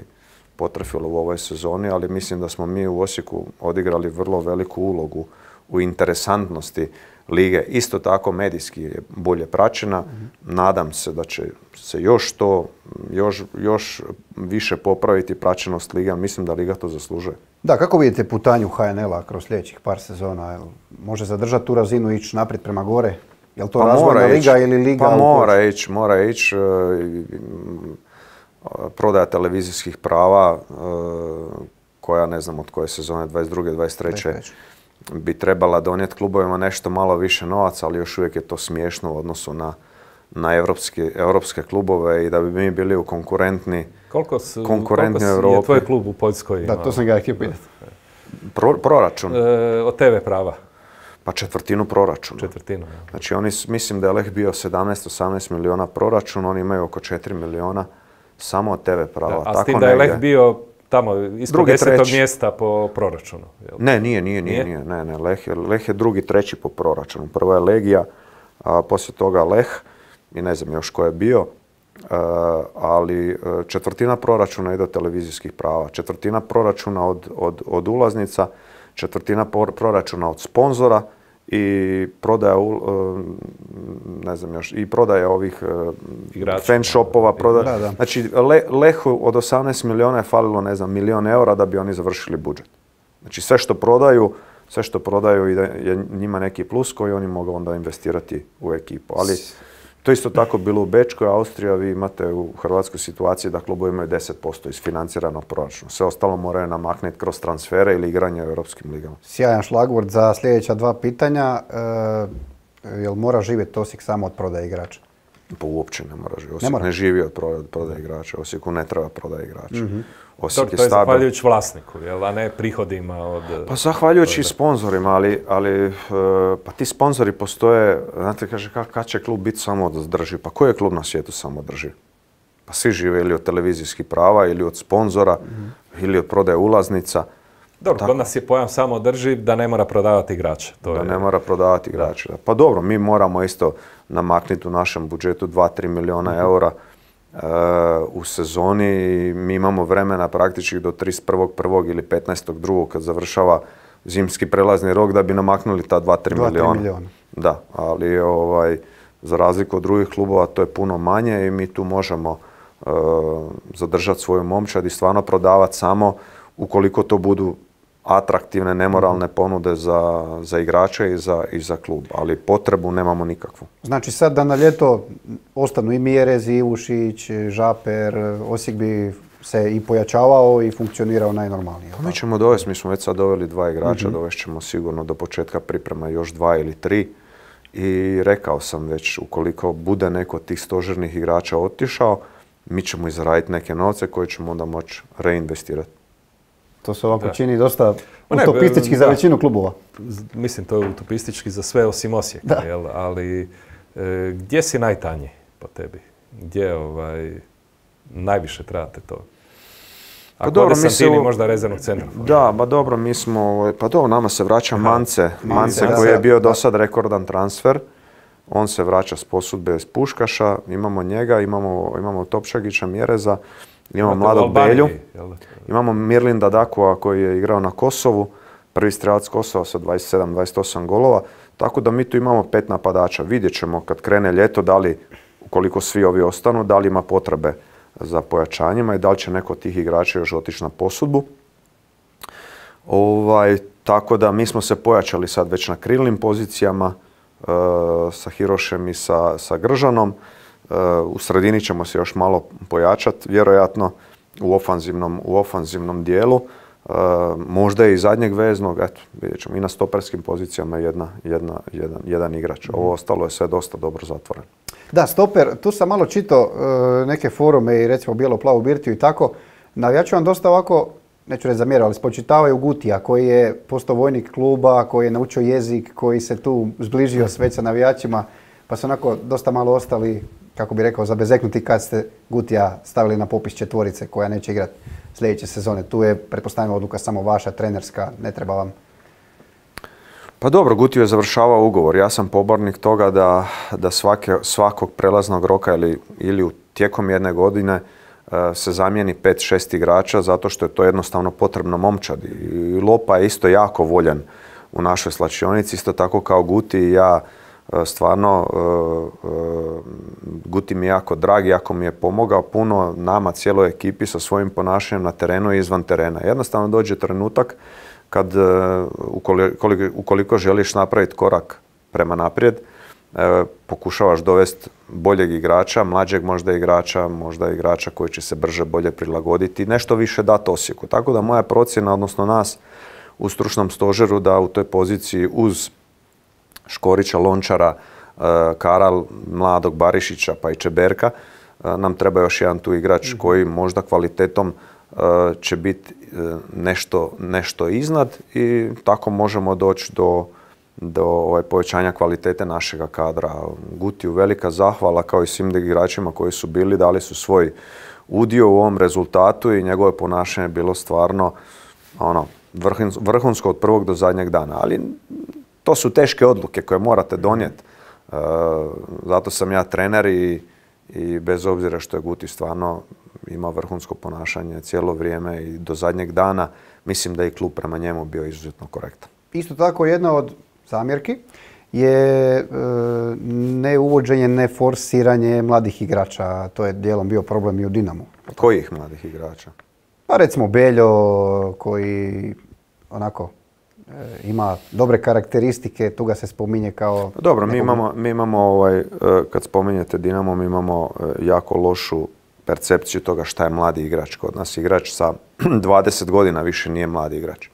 potrefilo u ovoj sezoni, ali mislim da smo mi u Osijeku odigrali vrlo veliku ulogu u interesantnosti lige. Isto tako medijski je bolje praćena. Mm-hmm. Nadam se da će se još to, još, još više popraviti praćenost liga. Mislim da liga to zaslužuje. Da, kako vidite putanju H N L-a kroz sljedećih par sezona? Može zadržati tu razinu i ići naprijed prema gore? Je li to pa razvojna liga ili liga? Pa mora ići, mora ići. Prodaja televizijskih prava koja, ne znam od koje sezone, dvadeset druge dvadeset treće bi trebala donijeti klubovima nešto malo više novaca, ali još uvijek je to smiješno u odnosu na, na evropske, evropske klubove i da bi mi bili u konkurentni, koliko su, konkurentni koliko u Europi. Je tvoj klub u Poljskoj? Da, to sam ga htio pitati. Pro, proračun? E, od te ve prava? Pa četvrtinu proračuna. Četvrtinu, ja. Znači oni, mislim da je Lech bio sedamnaest osamnaest milijuna proračun, oni imaju oko četiri milijuna samo od te ve prava. Da, a tako s tim da je Lech bio tamo ispod desetog mjesta po proračunu. Jel? Ne, nije, nije, nije, nije. Ne, ne. Lech je, Lech je drugi, treći po proračunu. Prvo je Legija, a poslije toga Lech i ne znam još ko je bio, a, ali četvrtina proračuna ide od televizijskih prava, četvrtina proračuna od, od, od ulaznica, četvrtina proračuna od sponzora i prodaja, ne znam još, i prodaja ovih fan shopova. Prodaja. Da, da. Znači, Le, Lehu od osamnaest milijuna je falilo, ne znam, milijon eura da bi oni završili budžet. Znači, sve što prodaju, sve što prodaju je njima neki plus koji oni mogu onda investirati u ekipu. Ali to isto tako bilo u Bečkoj, Austrija, vi imate u Hrvatskoj situaciji da klubovi imaju deset posto isfinanciranog proračuna. Sve ostalo moraju namaknuti kroz transfere ili igranje u europskim ligama. Sjajan šlagvort za sljedeća dva pitanja. E, jel mora živjeti Osijek samo od prodaje igrača? Pa uopće ne mora živjeti. Osijek ne, ne živi od prodaje igrača. Osijeku ne treba prodaje igrača. Mm-hmm. Osijek to, to je zahvaljujući vlasniku, jel, a ne prihodima od... Pa zahvaljujući i sponzorima, ali, ali pa ti sponzori postoje, znate, kaže, kad će klub biti samoodrživ? Pa koji je klub na svijetu samoodrživ? Pa svi žive ili od televizijskih prava, ili od sponzora, mm-hmm. ili od prodaje ulaznica. Dobro, kod nas je pojam samoodrživ da ne mora prodavati igrače. To da je... ne mora prodavati igrače. Da. Pa dobro, mi moramo isto namaknuti u našem budžetu dva do tri milijuna mm-hmm. eura Uh, u sezoni. Mi imamo vremena praktički do trideset prvog prvog ili petnaestog drugog kad završava zimski prelazni rok da bi namaknuli ta dva do tri milijuna. Da, ali ovaj, za razliku od drugih klubova to je puno manje i mi tu možemo uh, zadržati svoju momčad i stvarno prodavati samo ukoliko to budu atraktivne, nemoralne ponude za, za igrače i za, i za klub, ali potrebu nemamo nikakvu. Znači sad da na ljeto ostanu i Mjerez, i Ivušić, Žaper, Osijek bi se i pojačavao i funkcionirao najnormalnije. Pa mi ćemo dovesti, mi smo već sad doveli dva igrača, mm-hmm. dovest ćemo sigurno do početka priprema još dva ili tri i rekao sam već, ukoliko bude neko od tih stožernih igrača otišao, mi ćemo izraditi neke novce koje ćemo onda moći reinvestirati. To se ovako da. čini dosta utopistički ne, za većinu klubova. Mislim, to je utopistički za sve osim Osijeka, jel? Ali e, gdje si najtanji po tebi? Gdje ovaj, najviše trebate to? Ako pa dobro, mi se... možda rezervnog centra. Da, ba dobro, mi smo... Pa dobro, nama se vraća Mance. Mance koji je bio do sad rekordan transfer. On se vraća s posudbe iz Puškaša. Imamo njega, imamo, imamo Topšagića, Mjereza. Imamo mladog Belju, imamo Mirlinda Dakua koji je igrao na Kosovu, prvi strelac Kosova sa dvadeset sedam dvadeset osam golova, tako da mi tu imamo pet napadača. Vidjet ćemo kad krene ljeto da li, ukoliko svi ovi ostanu, da li ima potrebe za pojačanjima i da li će neko od tih igrača još otići na posudbu. Ovaj, tako da mi smo se pojačali sad već na krilnim pozicijama e, sa Hirošem i sa, sa Gržanom. U sredini ćemo se još malo pojačati, vjerojatno u ofanzivnom, u ofanzivnom dijelu. E, možda i zadnjeg veznog, eto, vidjet ćemo i na stoperskim pozicijama jedna, jedna, jedan, jedan igrač. Ovo ostalo je sve dosta dobro zatvoreno. Da, stoper, tu sam malo čitao e, neke forume i recimo bijelo-plavu birtiju i tako. Navijači vam dosta ovako, neću reći zamjerao, ali spočitavaju Gutija koji je postao vojnik kluba, koji je naučio jezik, koji se tu zbližio s već sa navijačima, pa su onako dosta malo ostali, kako bi rekao, zabezeknuti kad ste Gutija stavili na popis četvorice koja neće igrati sljedeće sezone. Tu je, pretpostavljam, odluka samo vaša, trenerska, ne treba vam. Pa dobro, Gutiju je završavao ugovor. Ja sam pobornik toga da, da svake, svakog prelaznog roka ili, ili u tijekom jedne godine uh, se zamijeni pet šest igrača zato što je to jednostavno potrebno momčadi. I Lopa je isto jako voljen, u našoj slačionici, isto tako kao Guti i ja. Stvarno, Guti mi je jako drag, jako mi je pomogao puno nama, cijeloj ekipi sa svojim ponašanjem na terenu i izvan terena. Jednostavno dođe trenutak kad ukoliko, ukoliko želiš napraviti korak prema naprijed, pokušavaš dovesti boljeg igrača, mlađeg možda igrača, možda igrača koji će se brže, bolje prilagoditi, nešto više dati Osijeku. Tako da moja procjena, odnosno nas u stručnom stožeru, da u toj poziciji uz Škorića, Lončara, Karal, mladog Barišića pa i Čeberka nam treba još jedan tu igrač koji možda kvalitetom će biti nešto, nešto iznad i tako možemo doći do, do ovaj, povećanja kvalitete našega kadra. Gutiju velika zahvala kao i svim igračima koji su bili, dali su svoj udio u ovom rezultatu i njegovo ponašanje je bilo stvarno ono, vrhunsko od prvog do zadnjeg dana. Ali to su teške odluke koje morate donijeti. E, zato sam ja trener i, i bez obzira što je Guti stvarno imao vrhunsko ponašanje cijelo vrijeme i do zadnjeg dana, mislim da je i klub prema njemu bio izuzetno korektan. Isto tako jedna od zamjerki je e, ne uvođenje, ne forsiranje mladih igrača. To je dijelom bio problem i u Dinamu. Kojih mladih igrača? Pa recimo Beljo koji onako ima dobre karakteristike, tu ga se spominje kao... Dobro, mi imamo, mi imamo ovaj, kad spominjete Dinamo, mi imamo jako lošu percepciju toga šta je mladi igrač. Kod nas igrač sa dvadeset godina više nije mladi igrač.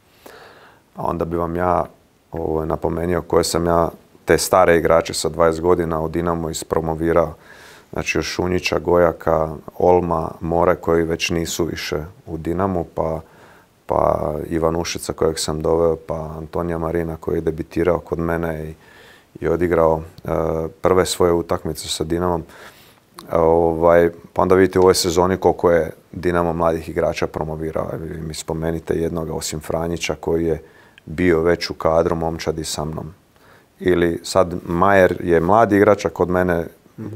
A onda bi vam ja ovaj, napomenuo koje sam ja te stare igrače sa dvadeset godina u Dinamo ispromovirao. Znači još Šunjića, Gojaka, Olma, More koji već nisu više u Dinamu, pa pa Ivan Ušica kojeg sam doveo, pa Antonija Marina koji je debitirao kod mene i, i odigrao uh, prve svoje utakmice sa Dinamom. Ovaj, pa onda vidite u ovoj sezoni koliko je Dinamo mladih igrača promovirao. Mi spomenite jednoga osim Franjića koji je bio već u kadru momčadi sa mnom. Ili sad Majer je mladi igrač, a kod mene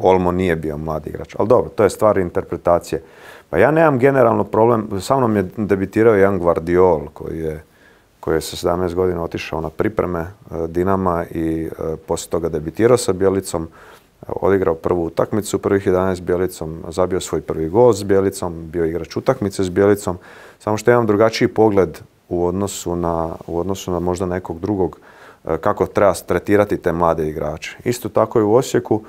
Olmo nije bio mladi igrač. Ali dobro, to je stvar interpretacije. Pa ja nemam generalno problem, sa mnom je debitirao jedan Gvardiol koji je, koji je sa sedamnaest godina otišao na pripreme Dinama i e, poslije toga debitirao sa Bjelicom, odigrao prvu utakmicu, prvih jedanaest s Bjelicom, zabio svoj prvi gol s Bjelicom, bio igrač utakmice s Bjelicom, samo što imam drugačiji pogled u odnosu na, u odnosu na možda nekog drugog e, kako treba tretirati te mlade igrače. Isto tako i u Osijeku.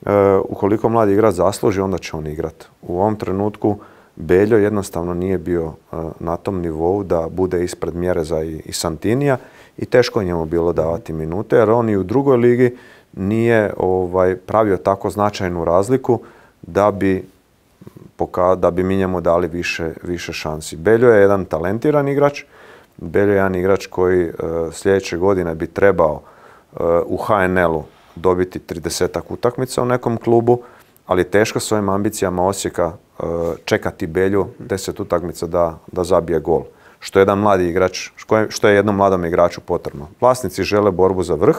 Uh, ukoliko mladi igrač zasluži, onda će on igrati. U ovom trenutku Beljo jednostavno nije bio uh, na tom nivou da bude ispred Mjereza i, i Santinija i teško njemu bilo davati minute, jer on i u drugoj ligi nije ovaj, pravio tako značajnu razliku da bi, poka, da bi mi njemu dali više, više šansi. Beljo je jedan talentiran igrač, Beljo je jedan igrač koji uh, sljedeće godine bi trebao uh, u H N L-u dobiti tridesetak utakmica u nekom klubu, ali teško s ovim ambicijama Osijeka uh, čekati Belju deset utakmica da, da zabije gol. Što je jedan mladi igrač, što je jednom mladom igraču potrebno. Vlasnici žele borbu za vrh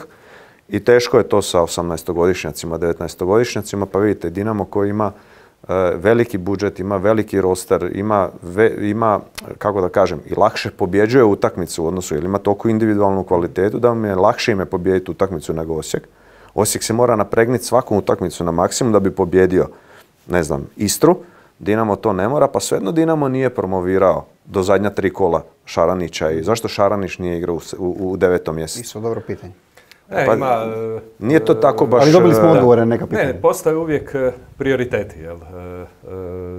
i teško je to sa osamnaestogodišnjacima, devetnaestogodišnjacima, pa vidite Dinamo koji ima uh, veliki budžet, ima veliki roster, ima, ve, ima, kako da kažem, i lakše pobjeđuje utakmicu u odnosu, jer ima toliko individualnu kvalitetu da mi je lakše ime pobijediti utakmicu nego Osijek. Osijek se mora napregnuti svaku utakmicu na maksimum da bi pobjedio, ne znam, Istru. Dinamo to ne mora, pa svejedno Dinamo nije promovirao do zadnja tri kola Šaranića. I zašto Šaranić nije igrao u, u, u devetom mjesecu? Isto dobro pitanje. E, pa, ima, nije to tako baš... Ali dobili smo odgovore na neka pitanja. Ne, postoje uvijek prioriteti. Jel?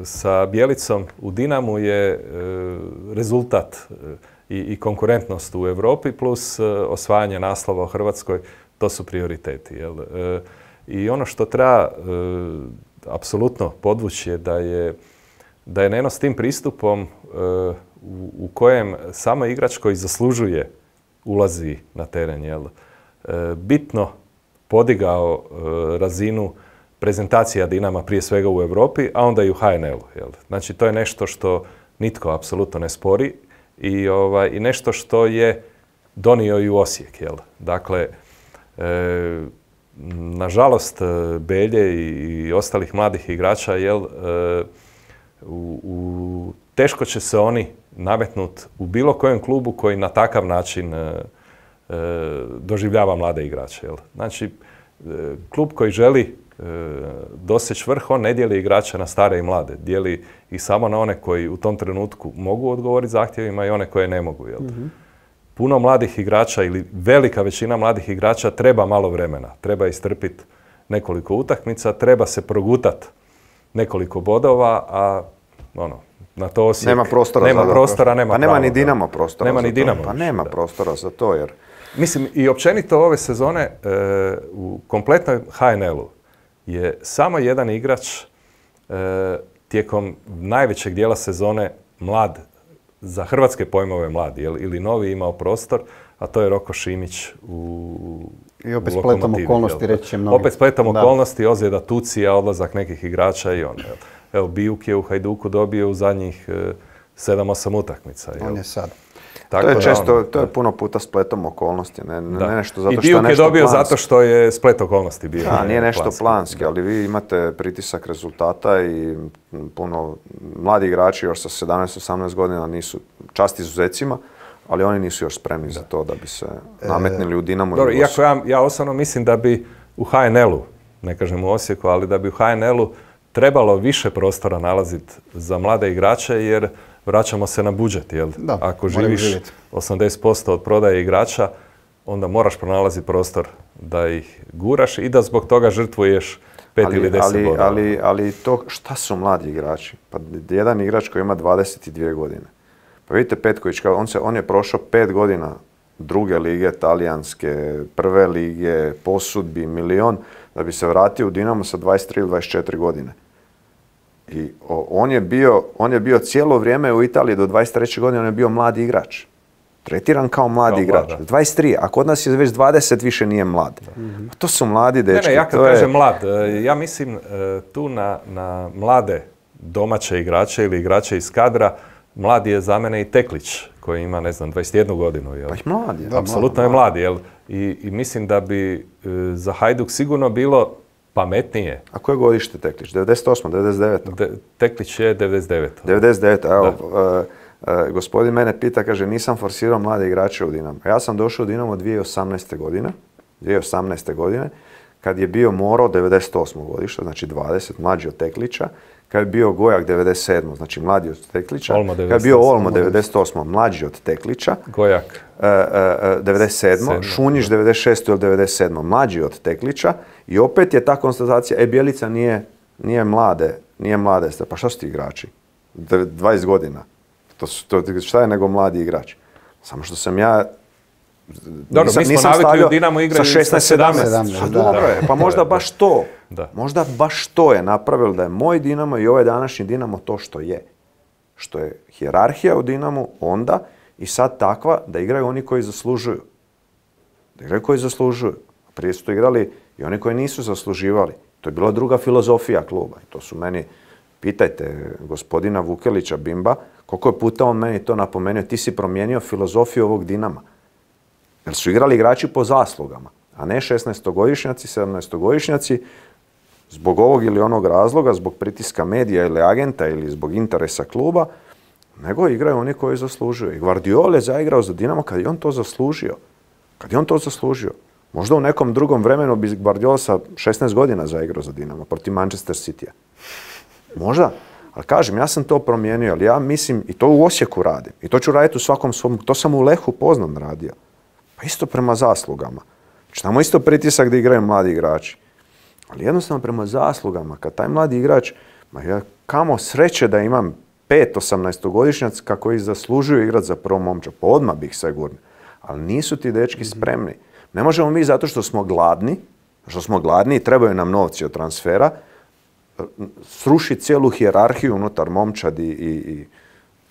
Sa Bjelicom u Dinamu je rezultat i, i konkurentnost u Europi plus osvajanje naslova u Hrvatskoj. To su prioriteti. Jel? E, I ono što treba e, apsolutno podvući je da je, da je Neno s tim pristupom e, u, u kojem samo igrač koji zaslužuje ulazi na teren, jel? E, bitno podigao e, razinu prezentacija Dinama prije svega u Europi, a onda i u H N L-u. Jel? Znači to je nešto što nitko apsolutno ne spori i, ovaj, i nešto što je donio i u Osijek. Jel? Dakle, E, nažalost, Belje i, i ostalih mladih igrača, jel, e, u, u, teško će se oni nametnuti u bilo kojem klubu koji na takav način e, doživljava mlade igrače. Jel? Znači, e, klub koji želi e, doseći vrh, on ne dijeli igrače na stare i mlade. Dijeli ih samo na one koji u tom trenutku mogu odgovoriti zahtjevima i one koje ne mogu. Jel? Mm-hmm. Puno mladih igrača ili velika većina mladih igrača treba malo vremena. Treba istrpiti nekoliko utakmica, treba se progutat nekoliko bodova, a ono, na to Osijek nema prostora, nema za prostora, nema pa nema pravo, ni Dinamo prostora. Nema za ni Dinamo. To. Pa nema da. prostora za to jer... Mislim, i općenito ove sezone e, u kompletnoj ha en el-u je samo jedan igrač e, tijekom najvećeg dijela sezone mlad, za hrvatske pojmove mlad, jel, ili novi imao prostor, a to je Roko Šimić u I opet spletom okolnosti, reći će mnogi. Opet spletom okolnosti, ozljeda Tucija, odlazak nekih igrača i on. Jel. Evo, Bijuk je u Hajduku dobio u zadnjih e, sedam osam utakmica. Jel. On je sad. Tako to je često, on, to je puno puta spletom okolnosti, ne, ne nešto zato što I je nešto planski. I Bijuk je dobio zato što je splet okolnosti bio. Da, nije nešto planski, planski, ali vi imate pritisak rezultata i puno mladi igrači još sa sedamnaest osamnaest godina nisu čast izuzecima, ali oni nisu još spremni da. za to da bi se nametnili u Dinamo. Dobro, iako ja, ja osobno mislim da bi u ha en el-u, ne kažem u Osijeku, ali da bi u ha en el-u trebalo više prostora nalaziti za mlade igrače, jer vraćamo se na budžet, jel? Da, ako živiš osamdeset posto od prodaje igrača, onda moraš pronalaziti prostor da ih guraš i da zbog toga žrtvuješ pet ali, ili deset ali, bodova. Ali, ali to, šta su mladi igrači? Pa jedan igrač koji ima dvadeset dvije godine. Pa vidite Petković, on, se, on je prošao pet godina druge lige, talijanske, prve lige, posudbi, milion, da bi se vratio u Dinamo sa dvadeset tri ili dvadeset četiri godine. I o, on, je bio, on je bio cijelo vrijeme u Italiji do dvadeset treće godine, on je bio mladi igrač. Tretiran kao mladi kao igrač. Mlada. dvadeset tri, a kod nas je već dvadeset, više nije mlad. Mm-hmm. To su mladi dečki. Ne, ne, ja kad kažem je... mlad, ja mislim tu na, na mlade domaće igrače ili igrače iz kadra. Mladi je za mene i Teklić, koji ima, ne znam, dvadeset jednu godinu. Jel? Pa i mladi. Da, apsolutno je mladi, jel? I, i mislim da bi e, za Hajduk sigurno bilo pametnije. A koje godište Teklić? devedeset osma, devedeset deveta? De, Teklić je devedeset deveta. devedeset deveta, evo, uh, uh, gospodin mene pita, kaže, nisam forsirao mlade igrače u Dinamo. Ja sam došao u Dinamo dvije tisuće osamnaeste godine, dvije tisuće osamnaeste godine, kad je bio Moro devedeset osmo godište, znači dvadeset, mlađi od Teklića, kad je bio Gojak devedeset sedmo, znači mlađi od Teklića, kad je bio Olmo devedeset osmo, mlađi od Teklića, Gojak uh, uh, devedeset sedmo, Šunjić devedeset šesto ili devedeset sedmo, mlađi od Teklića i opet je ta konstatacija, e, Bjelica nije, nije mlade, nije mlade, pa šta su ti igrači? dvadeset godina. To, to, šta je nego mladi igrač? Samo što sam ja Dobro, nisam, mi smo navikli u Dinamo igraju sa šesnaest sedamnaest. Pa dobro je, pa možda baš to. Da. Možda baš to je napravilo da je moj Dinamo i ovaj današnji Dinamo to što je. Što je hijerarhija u Dinamu onda i sad takva da igraju oni koji zaslužuju. Da igraju koji zaslužuju. Prije su to igrali i oni koji nisu zasluživali. To je bila druga filozofija kluba. I to su meni, pitajte gospodina Vukelića Bimba, koliko je puta on meni to napomenuo, ti si promijenio filozofiju ovog Dinama. Jer su igrali igrači po zaslugama, a ne šesnaestogodišnjaci, sedamnaestogodišnjaci, zbog ovog ili onog razloga, zbog pritiska medija ili agenta ili zbog interesa kluba, nego igraju oni koji zaslužuju. I Guardiola je zaigrao za Dinamo kad je on to zaslužio. Kad je on to zaslužio. Možda u nekom drugom vremenu bi Guardiola sa šesnaest godina zaigrao za Dinamo protiv Manchester Citya. Možda. Ali kažem, ja sam to promijenio, ali ja mislim, i to u Osijeku radim, i to ću raditi u svakom svom, to sam u Lehu Poznan radio. Pa isto prema zaslugama. Znači, tamo isto pritisak da igraju mladi igrači. Ali jednostavno prema zaslugama, kad taj mladi igrač, ma ja kamo sreće da imam pet osamnaestogodišnjaca koji zaslužuju igrati za prvo momča, pa odmah bih sve gurnio. Ali nisu ti dečki spremni. Ne možemo mi zato što smo gladni, što smo gladni i trebaju nam novci od transfera, srušiti cijelu hijerarhiju unutar momčadi i, i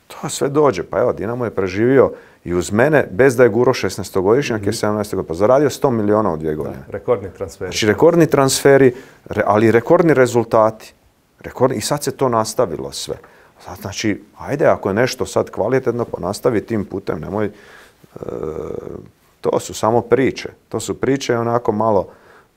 to sve dođe. Pa evo, Dinamo je preživio i uz mene, bez da je guro šesnaestogodišnjak, mm-hmm. jer sedamnaeste godine, pa zaradio sto miliona u dvije godine. Da, rekordni transferi. Znači, rekordni transferi, re, ali rekordni rezultati. Rekordni, i sad se to nastavilo sve. Znači, ajde, ako je nešto sad kvalitetno, pa nastavi tim putem, nemoj... E, to su samo priče. To su priče i onako malo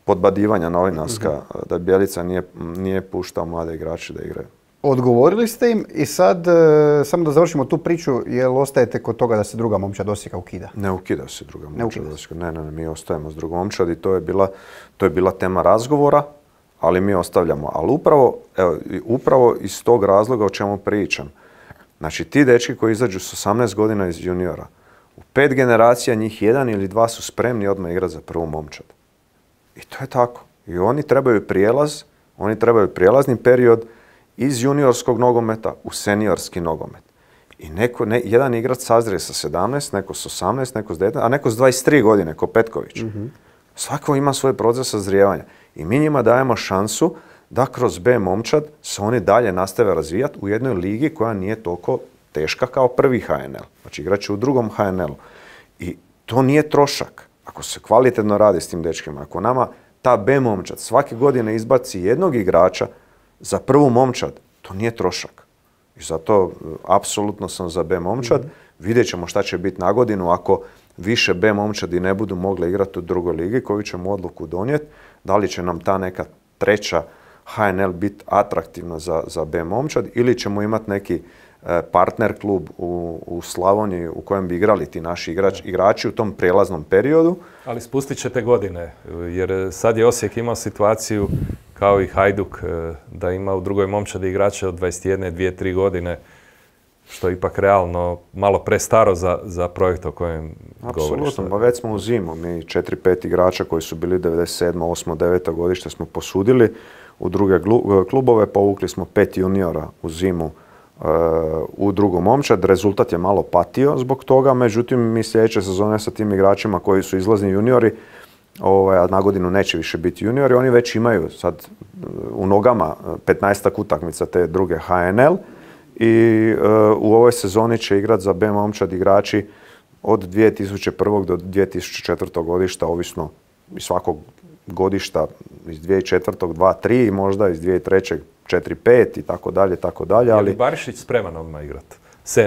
podbadivanja novinarska, mm-hmm. da Bjelica nije, nije puštao mlade igrače da igraju. Odgovorili ste im i sad, e, samo da završimo tu priču, jel ostajete kod toga da se druga momčad Osijeka ukida? Ne ukida se druga Ne momčad ukida se. Osijeka. Ne, ne, ne, mi ostajemo s drugom momčad i to je bila, to je bila tema razgovora, ali mi ostavljamo. Ali upravo, evo, i upravo iz tog razloga o čemu pričam. Znači, ti dečki koji izađu s osamnaest godina iz juniora, u pet generacija njih jedan ili dva su spremni odmah igrati za prvu momčad. I to je tako. I oni trebaju prijelaz, oni trebaju prijelazni period iz juniorskog nogometa u seniorski nogomet. I neko, ne, jedan igrač sazrije sa sedamnaest, neko s osamnaest, neko s devetnaest, a neko s dvadeset tri godine, ko Petković. Mm-hmm. Svako ima svoj proces sazrijevanja. I mi njima dajemo šansu da kroz B momčad se oni dalje nastave razvijati u jednoj ligi koja nije toliko teška kao prvi H N L. Znači igrat će u drugom H N L-u. I to nije trošak. Ako se kvalitetno radi s tim dečkima, ako nama ta B momčad svake godine izbaci jednog igrača za prvu momčad, to nije trošak. I zato apsolutno sam za B momčad. Mm-hmm. Vidjet ćemo šta će biti na godinu ako više B momčadi ne budu mogle igrati u drugoj ligi, koju ćemo odluku donijeti. Da li će nam ta neka treća H N L biti atraktivna za, za B momčad ili ćemo imati neki e, partner klub u, u Slavoniji u kojem bi igrali ti naši igrač, igrači u tom prijelaznom periodu. Ali spustit ćete godine, jer sad je Osijek imao situaciju kao i Hajduk, da ima u drugoj momčadi igrače od dvadeset jedne, dvije, tri godine, što je ipak realno malo prestaro za, za projekt o kojem govoriš. Apsolutno, pa već smo u zimu. Mi četiri pet igrača koji su bili devedeset sedma, osma, deveta godište smo posudili u druge klubove, povukli smo pet juniora u zimu uh, u drugu momčad. Rezultat je malo patio zbog toga, međutim mi sljedeće sezone sa tim igračima koji su izlazni juniori, ovaj, a na godinu neće više biti juniori, oni već imaju sad u nogama petnaestak utakmica te druge H N L i uh, u ovoj sezoni će igrati za B momčad igrači od dvije tisuće prve. do dvije tisuće četvrte. godišta, ovisno iz svakog godišta, iz dvije tisuće četvrte. dva tri, možda iz dvije tisuće treće. četiri pet i tako dalje, tako dalje. Je li Barišić spreman odmah igrati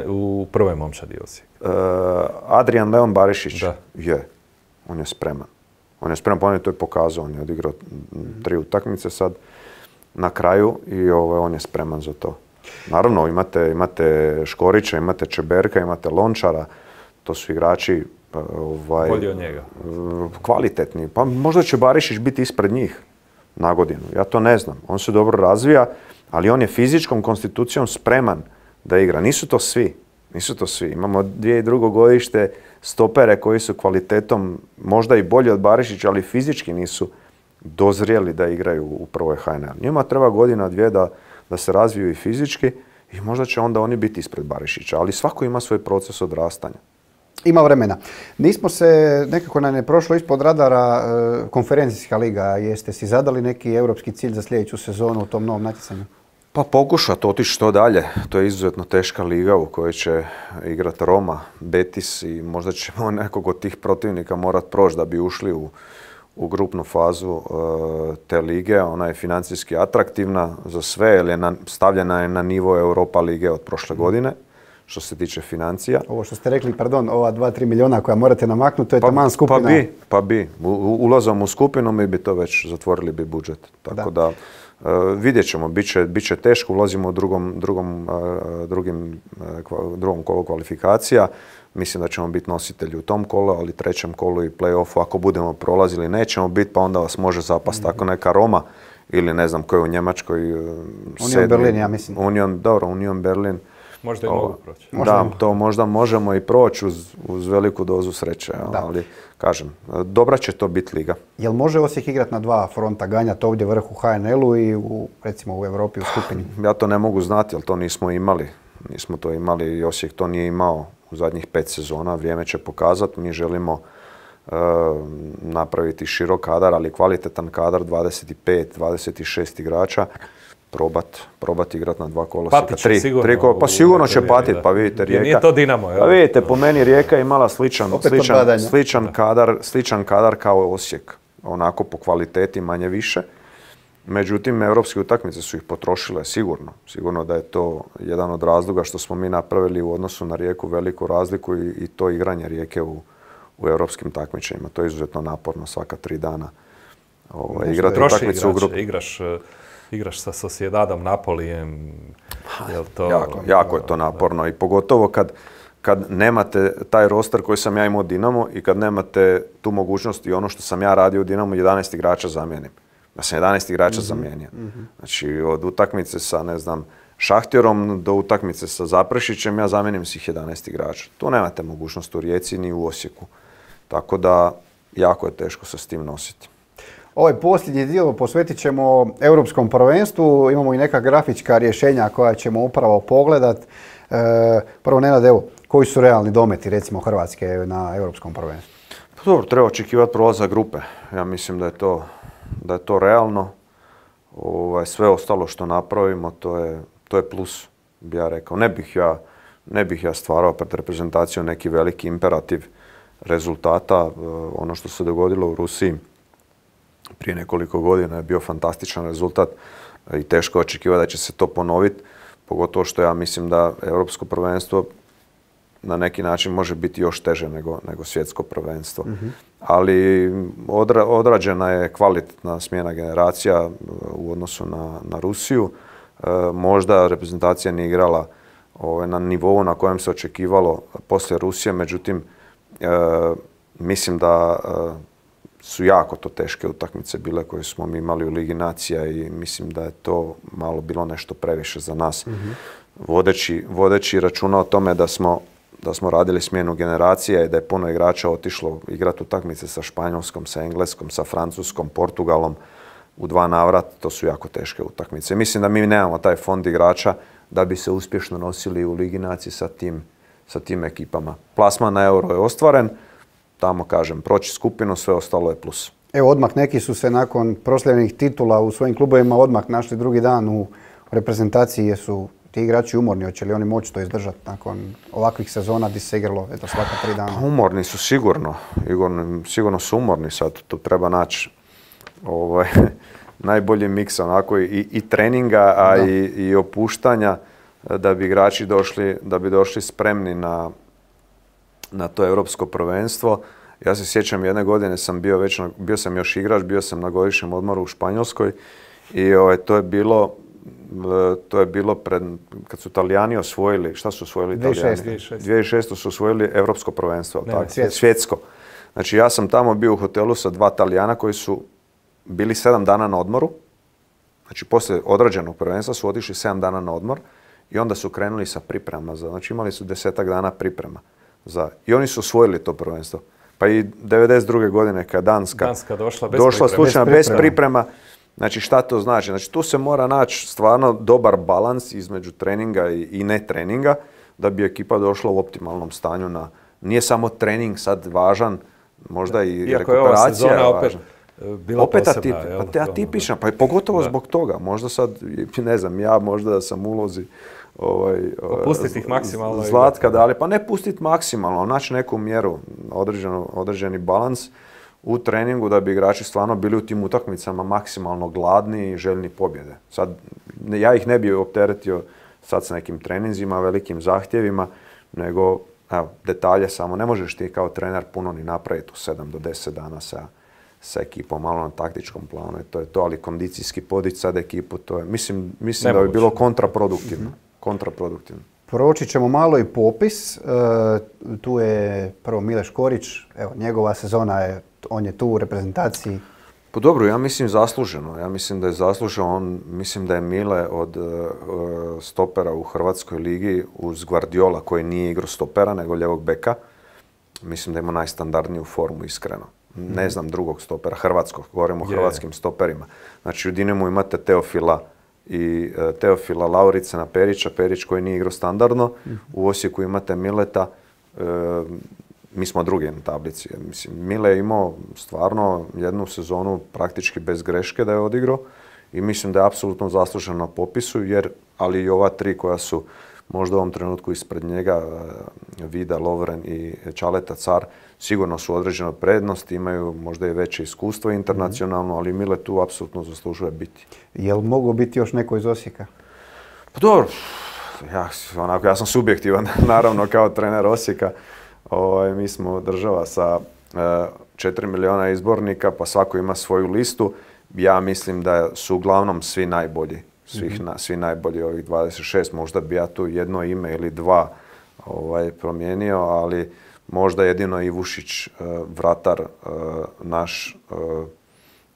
u prvoj momčadi Osijek? Uh, Adrian Leon Barišić da. je, on je spreman. On je spreman, pa on je to i pokazao, on je odigrao tri utakmice sad na kraju i ovaj, on je spreman za to. Naravno, imate, imate Škorića, imate Čeberka, imate Lončara, to su igrači ovaj, bolji od njega. Kvalitetni. Pa možda će Barišić biti ispred njih na godinu, ja to ne znam. On se dobro razvija, ali on je fizičkom konstitucijom spreman da igra. Nisu to svi. Nisu to svi. Imamo dvije i drugo godište stopere koji su kvalitetom možda i bolji od Barišića, ali fizički nisu dozrijeli da igraju u prvoj H N L. Njima treba godina, dvije da, da se razviju i fizički i možda će onda oni biti ispred Barišića, ali svako ima svoj proces odrastanja. Ima vremena. Nismo se nekako nam je prošlo ispod radara e, konferencijska liga. Jeste si zadali neki europski cilj za sljedeću sezonu u tom novom natjecanju? Pa pokušati otići što dalje. To je izuzetno teška liga u kojoj će igrati Roma, Betis i možda ćemo nekog od tih protivnika morati proći da bi ušli u, u grupnu fazu uh, te lige. Ona je financijski atraktivna za sve jer je na, stavljena je na nivo Europa lige od prošle godine što se tiče financija. Ovo što ste rekli, pardon, ova dva do tri milijuna koja morate namaknuti, to je pa, taman skupina. Pa bi, pa bi. U, ulazom u skupinu mi bi to već zatvorili bi budžet. Tako da, da Uh, vidjet ćemo, bit će, bit će teško, ulazimo u drugom, drugom, uh, drugim, uh, drugom kolu kvalifikacija. Mislim da ćemo biti nositelji u tom kolu, ali trećem kolu i play-offu ako budemo prolazili nećemo biti, pa onda vas može zapasti mm-hmm. tako neka Roma ili ne znam koji u Njemačkoj. Uh, Union Berlin, ja mislim. Union, dobro, Union Berlin. Možda i o, mogu proći. Da, to možda možemo i proći uz, uz veliku dozu sreće, ali kažem, dobra će to biti liga. Jel može Osijek igrati na dva fronta, ganjati ovdje vrh u H N L-u i u, recimo u Europi u skupini? Ja to ne mogu znati, jer to nismo imali. Nismo to imali i Osijek to nije imao u zadnjih pet sezona. Vrijeme će pokazati. Mi želimo uh, napraviti širok kadar, ali kvalitetan kadar, dvadeset pet dvadeset šest igrača. Probat, probat igrat na dva kolosijeka. Patit će sigurno. Tri, pa sigurno će patiti, pa vidite Rijeka. Nije to Dinamo, jel? Pa vidite, po meni Rijeka je imala sličan, sličan, sličan, kadar, sličan kadar kao Osijek. Onako po kvaliteti manje više. Međutim, europske utakmice su ih potrošile sigurno. Sigurno da je to jedan od razloga što smo mi napravili u odnosu na Rijeku veliku razliku i, i to igranje Rijeke u, u europskim takmičenjima. To je izuzetno naporno svaka tri dana. Ovo, igrati utakmicu u grupu. Igraš, igraš sa Sociedadom, Napolijem. Jel to, jako, jako je to naporno i pogotovo kad, kad nemate taj roster koji sam ja imao u Dinamo i kad nemate tu mogućnost i ono što sam ja radio u Dinamo, jedanaest igrača zamijenim. Da sam jedanaest igrača mm-hmm. zamijenio. Mm-hmm. Znači od utakmice sa, ne znam, Šahtjerom do utakmice sa Zaprešićem ja zamijenim svih jedanaest igrača. Tu nemate mogućnost u Rijeci ni u Osijeku. Tako da jako je teško se s tim nositi. Ovaj posljednji dio posvetit ćemo Europskom prvenstvu. Imamo i neka grafička rješenja koja ćemo upravo pogledat. E, prvo, Nenad, evo, koji su realni dometi recimo Hrvatske na Europskom prvenstvu? Pa dobro, treba očekivati prolazak grupe. Ja mislim da je to, da je to realno. Ovaj, sve ostalo što napravimo, to je, to je plus, bi ja rekao. Ne bih ja, ne bih ja stvarao pred reprezentacijom neki veliki imperativ rezultata. Ono što se dogodilo u Rusiji prije nekoliko godina je bio fantastičan rezultat i teško očekivati da će se to ponoviti, pogotovo što ja mislim da Europsko prvenstvo na neki način može biti još teže nego, nego svjetsko prvenstvo. Mm-hmm. Ali odra, odrađena je kvalitetna smjena generacija u odnosu na, na Rusiju. E, možda reprezentacija nije igrala ovaj, na nivou na kojem se očekivalo poslije Rusije, međutim e, mislim da e, su jako to teške utakmice bile koje smo mi imali u Ligi nacija i mislim da je to malo bilo nešto previše za nas. Mm-hmm. Vodeći, vodeći računa o tome da smo, da smo radili smjenu generacije i da je puno igrača otišlo igrati utakmice sa Španjolskom, sa Engleskom, sa Francuskom, Portugalom u dva navrata, to su jako teške utakmice. Mislim da mi nemamo taj fond igrača da bi se uspješno nosili u Ligi nacije sa tim, sa tim ekipama. Plasman na Euro je ostvaren, tamo kažem, proći skupinu, sve ostalo je plus. Evo, odmah neki su se nakon proslavljenih titula u svojim klubovima odmah našli drugi dan u reprezentaciji. Jesu ti igrači umorni, hoće li oni moći to izdržati nakon ovakvih sezona gdje se igralo eto, svaka tri dana? Umorni su sigurno, sigurno, sigurno su umorni sad, tu treba naći ovaj, najbolji miks onako i, i treninga, a i, i opuštanja da bi igrači došli, da bi došli spremni na na to europsko prvenstvo. Ja se sjećam, jedne godine sam bio već, bio sam još igrač, bio sam na godišnjem odmoru u Španjolskoj i ovaj, to je bilo, to je bilo pred, kad su Italijani osvojili, šta su osvojili Italijani? dvije tisuće šeste. dvije tisuće šeste su osvojili europsko prvenstvo, ne, tako? Svjetsko. Svjetsko. Znači ja sam tamo bio u hotelu sa dva Talijana koji su bili sedam dana na odmoru. Znači poslije odrađenog prvenstva su otišli sedam dana na odmor i onda su krenuli sa pripremama. Znači imali su desetak dana priprema. Za, i oni su osvojili to prvenstvo. Pa i devedeset druge godine kad Danska, Danska došla bez došla priprema. slučajno bez priprema. bez priprema. Znači šta to znači? Znači tu se mora naći stvarno dobar balans između treninga i, i ne treninga da bi ekipa došla u optimalnom stanju. Na, nije samo trening sad važan, možda i iako rekuperacija je ova važna. Bila opet posebna, atip, jel? pa atipična, pa i pogotovo da. zbog toga. Možda sad, ne znam, ja možda da sam ulozi ovaj, pustiti ih maksimalno. Zlatka, da, ali pa ne pustiti maksimalno, naći neku mjeru, određenu, određeni balans u treningu da bi igrači stvarno bili u tim utakmicama maksimalno gladni i željni pobjede. Sad, ja ih ne bi opteretio sad s nekim treninzima, velikim zahtjevima, nego evo, detalje samo. Ne možeš ti kao trener puno ni napraviti u sedam do deset dana sa sa ekipom, malo na taktičkom planu je to, je to ali kondicijski podići sad ekipu, to je, mislim, mislim da bi bilo kontraproduktivno. kontraproduktivno. Proći ćemo malo i popis. E, tu je prvo Mile Škorić, evo, njegova sezona je, on je tu u reprezentaciji. Pa dobro, ja mislim zasluženo. Ja mislim da je zasluženo. On, mislim da je Mile od uh, stopera u Hrvatskoj ligi uz Guardiola koji nije igrao stopera nego ljevog beka. Mislim da ima najstandardniju formu, iskreno. Ne znam drugog stopera, hrvatskog, govorimo o yeah. hrvatskim stoperima. Znači u Dinamu imate Teofila i uh, Teofila Lauricena Perića, Perić koji nije igrao standardno. Mm-hmm. U Osijeku imate Mileta, uh, mi smo drugi na tablici. Mislim, Mile je imao stvarno jednu sezonu praktički bez greške da je odigrao i mislim da je apsolutno zaslužen na popisu, jer, ali i ova tri koja su možda u ovom trenutku ispred njega, Vida, Lovren i Čaleta Car, sigurno su određene prednosti, imaju možda i veće iskustvo internacionalno, ali Mile tu apsolutno zaslužuje biti. Je li moglo biti još neko iz Osijeka? Pa dobro, ja, onako, ja sam subjektivan, naravno, kao trener Osijeka. Ovaj, mi smo država sa četiri milijuna izbornika, pa svako ima svoju listu. Ja mislim da su uglavnom svi najbolji svih na, svi najbolji ovih dvadeset šest. Možda bi ja tu jedno ime ili dva ovaj, promijenio, ali možda jedino Ivušić, vratar naš,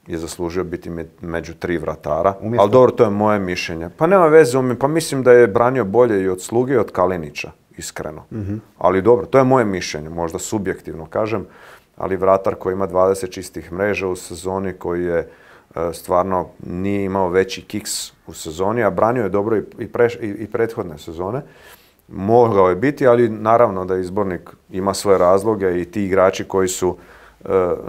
je zaslužio biti među tri vratara. Umjesto. Ali dobro, to je moje mišljenje. Pa nema veze, pa mislim da je branio bolje i od Sluge i od Kalinića, iskreno. Mm-hmm. Ali dobro, to je moje mišljenje, možda subjektivno kažem, ali vratar koji ima dvadeset čistih mreža u sezoni, koji je stvarno nije imao veći kiks u sezoni, a branio je dobro i, preš, i, i prethodne sezone. Mogao je biti, ali naravno da izbornik ima svoje razloge i ti igrači koji su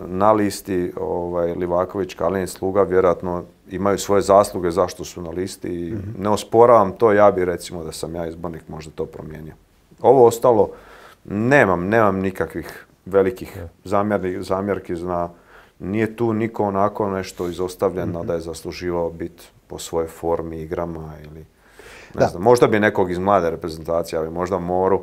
na listi, ovaj, Livaković, Kalinić, Sluga, vjerojatno imaju svoje zasluge zašto su na listi i mm-hmm. ne osporavam to, ja bi recimo da sam ja izbornik možda to promijenio. Ovo ostalo, nemam, nemam nikakvih velikih yeah. zamjerki, zamjerki zna, nije tu niko onako nešto izostavljeno mm-hmm. da je zasluživao biti po svojoj formi, igrama ili ne znam, možda bi nekog iz mlade reprezentacije, ali možda Moru,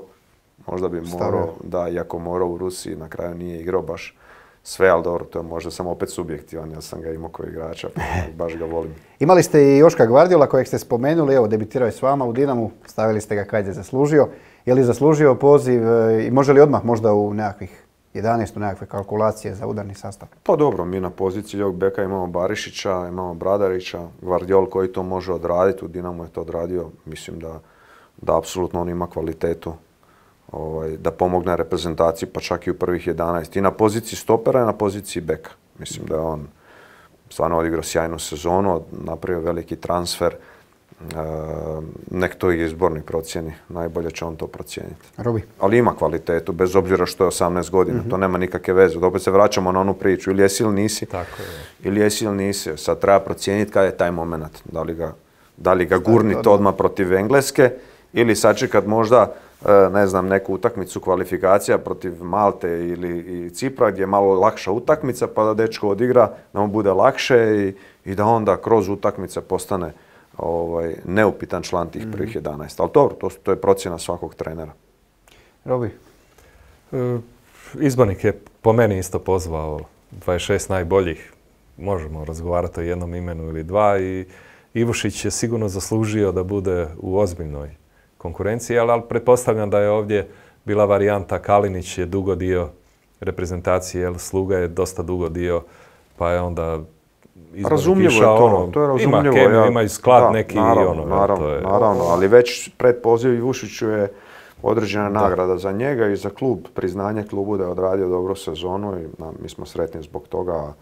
možda bi Moro, da, iako Moro u Rusiji na kraju nije igrao baš sve, ali dobro, to je možda sam opet subjektivan, ja sam ga imao kao igrača, pa baš ga volim. Imali ste i Joška Gvardiola kojeg ste spomenuli, evo, debitirao je s vama u Dinamu, stavili ste ga kad je zaslužio. Je li zaslužio poziv i može li odmah možda u nekakvih jedanaest nekakve kalkulacije za udarni sastav? Pa dobro, mi na poziciji ljevog beka imamo Barišića, imamo Bradarića, Gvardiol koji to može odraditi, u Dinamu je to odradio, mislim da, da apsolutno on ima kvalitetu. Ovaj, da pomogne reprezentaciji, pa čak i u prvih jedanaest. I na poziciji stopera i na poziciji beka. Mislim da je on stvarno odigrao sjajnu sezonu, napravio veliki transfer. E, nek to i izborni procjeni. Najbolje će on to procijeniti. Robi. Ali ima kvalitetu, bez obzira što je osamnaest godina. Mm-hmm. To nema nikakve veze. Opet se vraćamo na onu priču. Ili jesi ili nisi. Tako je. Ili jesi ili nisi. Sad treba procijeniti kada je taj moment. Da li ga, da li ga gurniti odmah protiv Engleske ili sačekat možda ne znam, neku utakmicu kvalifikacija protiv Malte ili i Cipra gdje je malo lakša utakmica pa da dečko odigra, da mu bude lakše i, i da onda kroz utakmice postane ovaj, neupitan član tih prvih jedanaest. Ali dobro, to, to je procjena svakog trenera. Robi? E, izbornik je po meni isto pozvao dvadeset šest najboljih. Možemo razgovarati o jednom imenu ili dva i Ivušić je sigurno zaslužio da bude u ozbiljnoj konkurenciji, ali, ali pretpostavljam da je ovdje bila varijanta Kalinić je dugo dio reprezentacije, jer Sluga je dosta dugo dio, pa je onda razumljivo je to, ono, to je razumljivo. Ima kemiju, ja, ima i sklad da, neki naravno, i ono. Naravno, to je, naravno, ali već pred poziv Ivušiću je određena da. nagrada za njega i za klub, priznanje klubu da je odradio dobru sezonu i na, mi smo sretni zbog toga.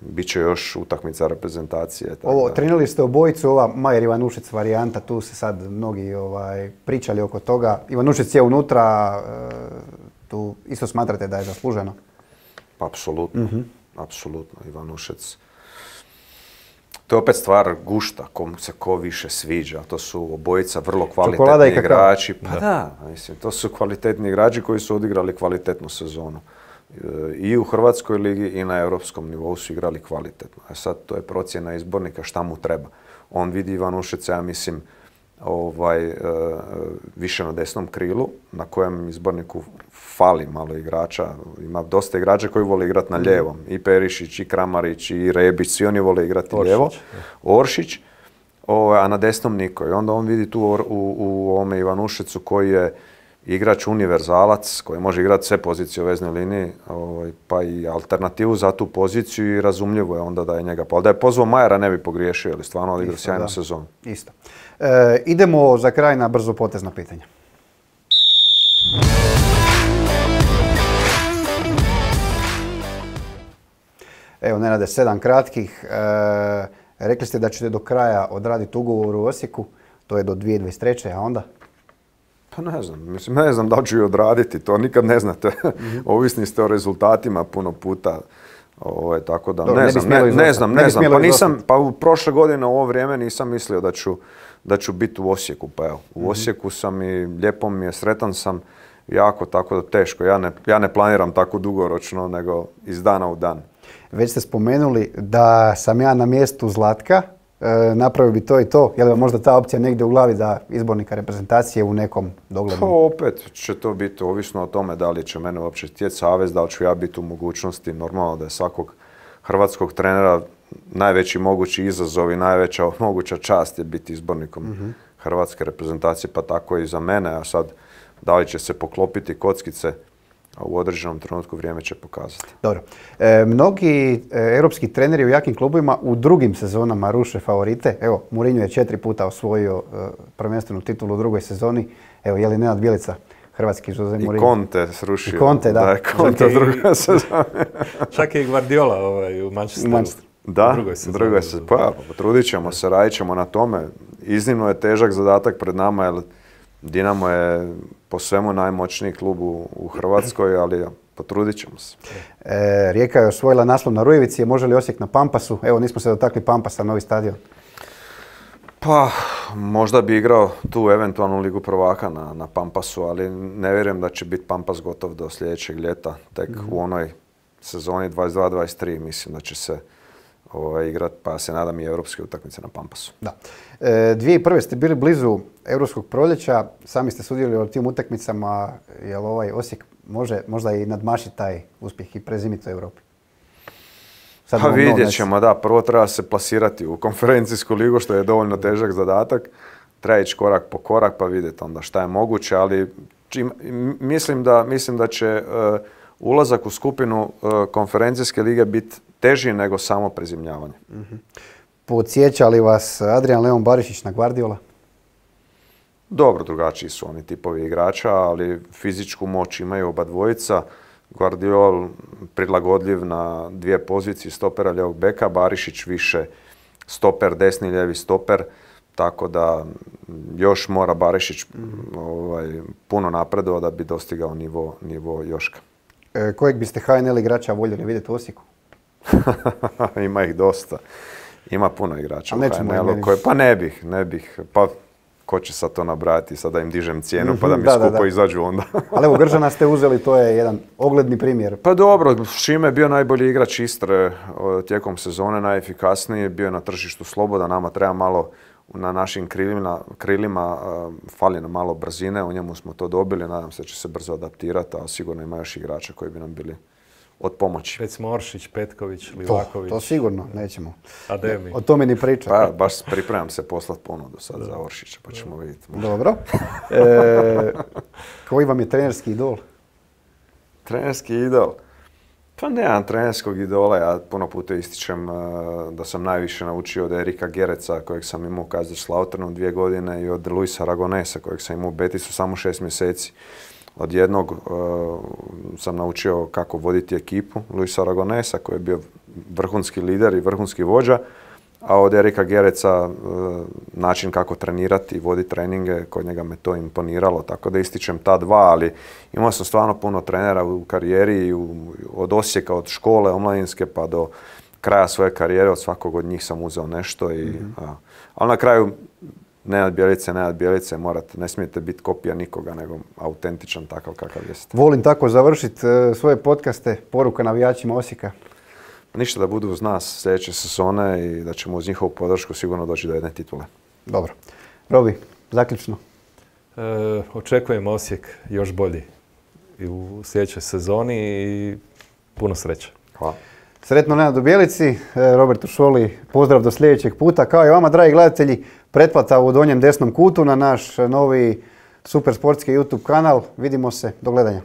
Biće još utakmica reprezentacije. Ovo, trenirali ste obojicu, ova Majer Ivanušec varijanta, tu se sad mnogi ovaj, pričali oko toga. Ivanušec je unutra, e, tu isto smatrate da je zasluženo? Pa, apsolutno, mm-hmm. apsolutno. Ivanušec. To je opet stvar gušta, kom se ko više sviđa. To su obojica vrlo kvalitetni igrači. Pa da. da, mislim, to su kvalitetni igrači koji su odigrali kvalitetnu sezonu. I u Hrvatskoj ligi i na europskom nivou su igrali kvalitetno. A sad to je procjena izbornika šta mu treba. On vidi Ivanušeca, ja mislim, ovaj, e, više na desnom krilu, na kojem izborniku fali malo igrača. Ima dosta igrača koji vole igrati na lijevom. I Perišić, i Kramarić, i Rebić, svi oni vole igrati Oršić, lijevo. Oršić, o, a na desnom niko. I onda on vidi tu u, u, u ovome Ivanušecu koji je igrač univerzalac koji može igrati sve pozicije u veznoj liniji, ovaj, pa i alternativu za tu poziciju i razumljivo je onda da je njega. Pa da je pozvao Majera ne bi pogriješio, ali stvarno odigrao sjajnu sezonu. Isto. E, idemo za kraj na brzo potezna pitanja. Evo, Nenade, sedam kratkih. E, rekli ste da ćete do kraja odraditi ugovor u Osijeku, to je do dvije tisuće dvadeset treće. a onda? Pa ne znam, mislim, ne znam da li ću i odraditi, to nikad ne znate. Mm-hmm. Ovisni ste o rezultatima puno puta. Ovo, tako da, Dobro, ne, ne, znam, ne, ne znam, ne, ne znam, pa nisam, pa u prošle godine u ovo vrijeme nisam mislio da ću, da ću biti u Osijeku, pa evo, u mm-hmm. Osijeku sam i lijepo mi je, sretan sam jako, tako da teško, ja ne, ja ne planiram tako dugoročno, nego iz dana u dan. Već ste spomenuli da sam ja na mjestu Zlatka, e, napravio bi to i to, je li vam možda ta opcija negdje u glavi za izbornika reprezentacije u nekom doglednom? Pa opet će to biti ovisno o tome da li će mene uopće htjeti savez, da li ću ja biti u mogućnosti, normalno da je svakog hrvatskog trenera najveći mogući izazov i najveća moguća čast je biti izbornikom mm-hmm. hrvatske reprezentacije, pa tako i za mene. A sad, da li će se poklopiti kockice, a u određenom trenutku vrijeme će pokazati. Dobro. E, mnogi e, europski treneri u jakim klubovima u drugim sezonama ruše favorite. Evo, Mourinho je četiri puta osvojio e, prvenstvenu titulu u drugoj sezoni. Evo, je li Nenad Bjelica, hrvatski Jose Mourinho? I Conte srušio. I Conte, da. Da je Conte u drugoj sezoni. Čak i Guardiola ovaj, u Manchesteru. Manchester. Da, u drugoj sezoni. drugoj se, pa potrudit ćemo se, radit ćemo na tome. Iznimno je težak zadatak pred nama, jer Dinamo je po svemu najmoćniji klub u, u Hrvatskoj, ali potrudit ćemo se. E, Rijeka je osvojila naslov na Rujevici, može li Osijek na Pampasu? Evo, nismo se dotakli Pampasa, novi stadion. Pa, možda bi igrao tu eventualnu Ligu prvaka na, na Pampasu, ali ne vjerujem da će biti Pampas gotov do sljedećeg ljeta. Tek mm-hmm. u onoj sezoni dvadeset dva dvadeset tri mislim da će se ovaj, igrati, pa se nadam i europske utakmice na Pampasu. Da. E, dvije tisuće prve ste bili blizu europskog proljeća, sami ste sudjelovali u tim utakmicama, jel ovaj Osijek može možda i nadmašiti taj uspjeh i prezimiti u Europi? Sad pa vidjet ćemo, da. Prvo treba se plasirati u konferencijsku ligu, što je dovoljno težak zadatak. Treba ići korak po korak pa vidjeti onda šta je moguće, ali čim, mislim, da, mislim da će uh, ulazak u skupinu uh, konferencijske lige biti teži nego samo prezimljavanje. Mm-hmm. Podsjeća li vas Adrian Leon Barišić na Guardiola? Dobro, drugačiji su oni tipovi igrača, ali fizičku moć imaju oba dvojica. Guardiol prilagodljiv na dvije pozicije stopera lijevog beka, Barišić više stoper, desni lijevi stoper, tako da još mora Barišić mm. ovaj, puno napredovao da bi dostigao nivo, nivo Joška. E, kojeg biste H N L igrača voljeli vidjeti u Osijeku? Ima ih dosta. Ima puno igrača u H N L-u koje, pa ne bih, ne bih, pa ko će sad to nabrajati, sad da im dižem cijenu pa da mi da, skupo da, da. izađu onda. Ali evo, Gržana ste uzeli, to je jedan ogledni primjer. Pa dobro, Šime je bio najbolji igrač Istre tijekom sezone, najefikasniji, bio je na tržištu sloboda, nama treba malo na našim krilima, krilima uh, fali nam malo brzine, u njemu smo to dobili, nadam se da će se brzo adaptirati, a sigurno ima još igrača koji bi nam bili od pomoći. Recimo Oršić, Petković, Livaković. To, to sigurno, nećemo. Ademi. O tome ni pričati. Pa baš pripremam se poslati ponudu sad da. za Oršića, pa ćemo vidjeti. Dobro. E, koji vam je trenerski idol? Trenerski idol? Pa nemam trenerskog idola, ja puno puta ističem uh, da sam najviše naučio od Erika Gereca, kojeg sam imao u Kaiserslauternu dvije godine, i od Luisa Aragonesa, kojeg sam imao u Betisu samo šest mjeseci. Od jednog uh, sam naučio kako voditi ekipu, Luisa Aragonesa, koji je bio vrhunski lider i vrhunski vođa, a od Erika Gereca uh, način kako trenirati i voditi treninge, kod njega me to imponiralo, tako da ističem ta dva, ali imao sam stvarno puno trenera u karijeri, i u, od Osijeka, od škole omladinske pa do kraja svoje karijere, od svakog od njih sam uzeo nešto, i, mm-hmm. a, ali na kraju Nenad Bjelica, Nenad Bjelica, morate, ne smijete biti kopija nikoga, nego autentičan takav kakav jeste. Volim tako završiti uh, svoje podcaste, poruka navijačima Osijeka. Ništa, da budu uz nas sljedeće sezone i da ćemo uz njihovu podršku sigurno doći do jedne titule. Dobro. Robi, zaključno. E, očekujem Osijek još bolji i u sljedećoj sezoni i puno sreće. Hvala. Sretno Nenadu Bjelici, Robertu Šoli, pozdrav do sljedećeg puta. Kao i vama, dragi gledatelji, pretplata u donjem desnom kutu na naš novi super sportski YouTube kanal. Vidimo se, do gledanja.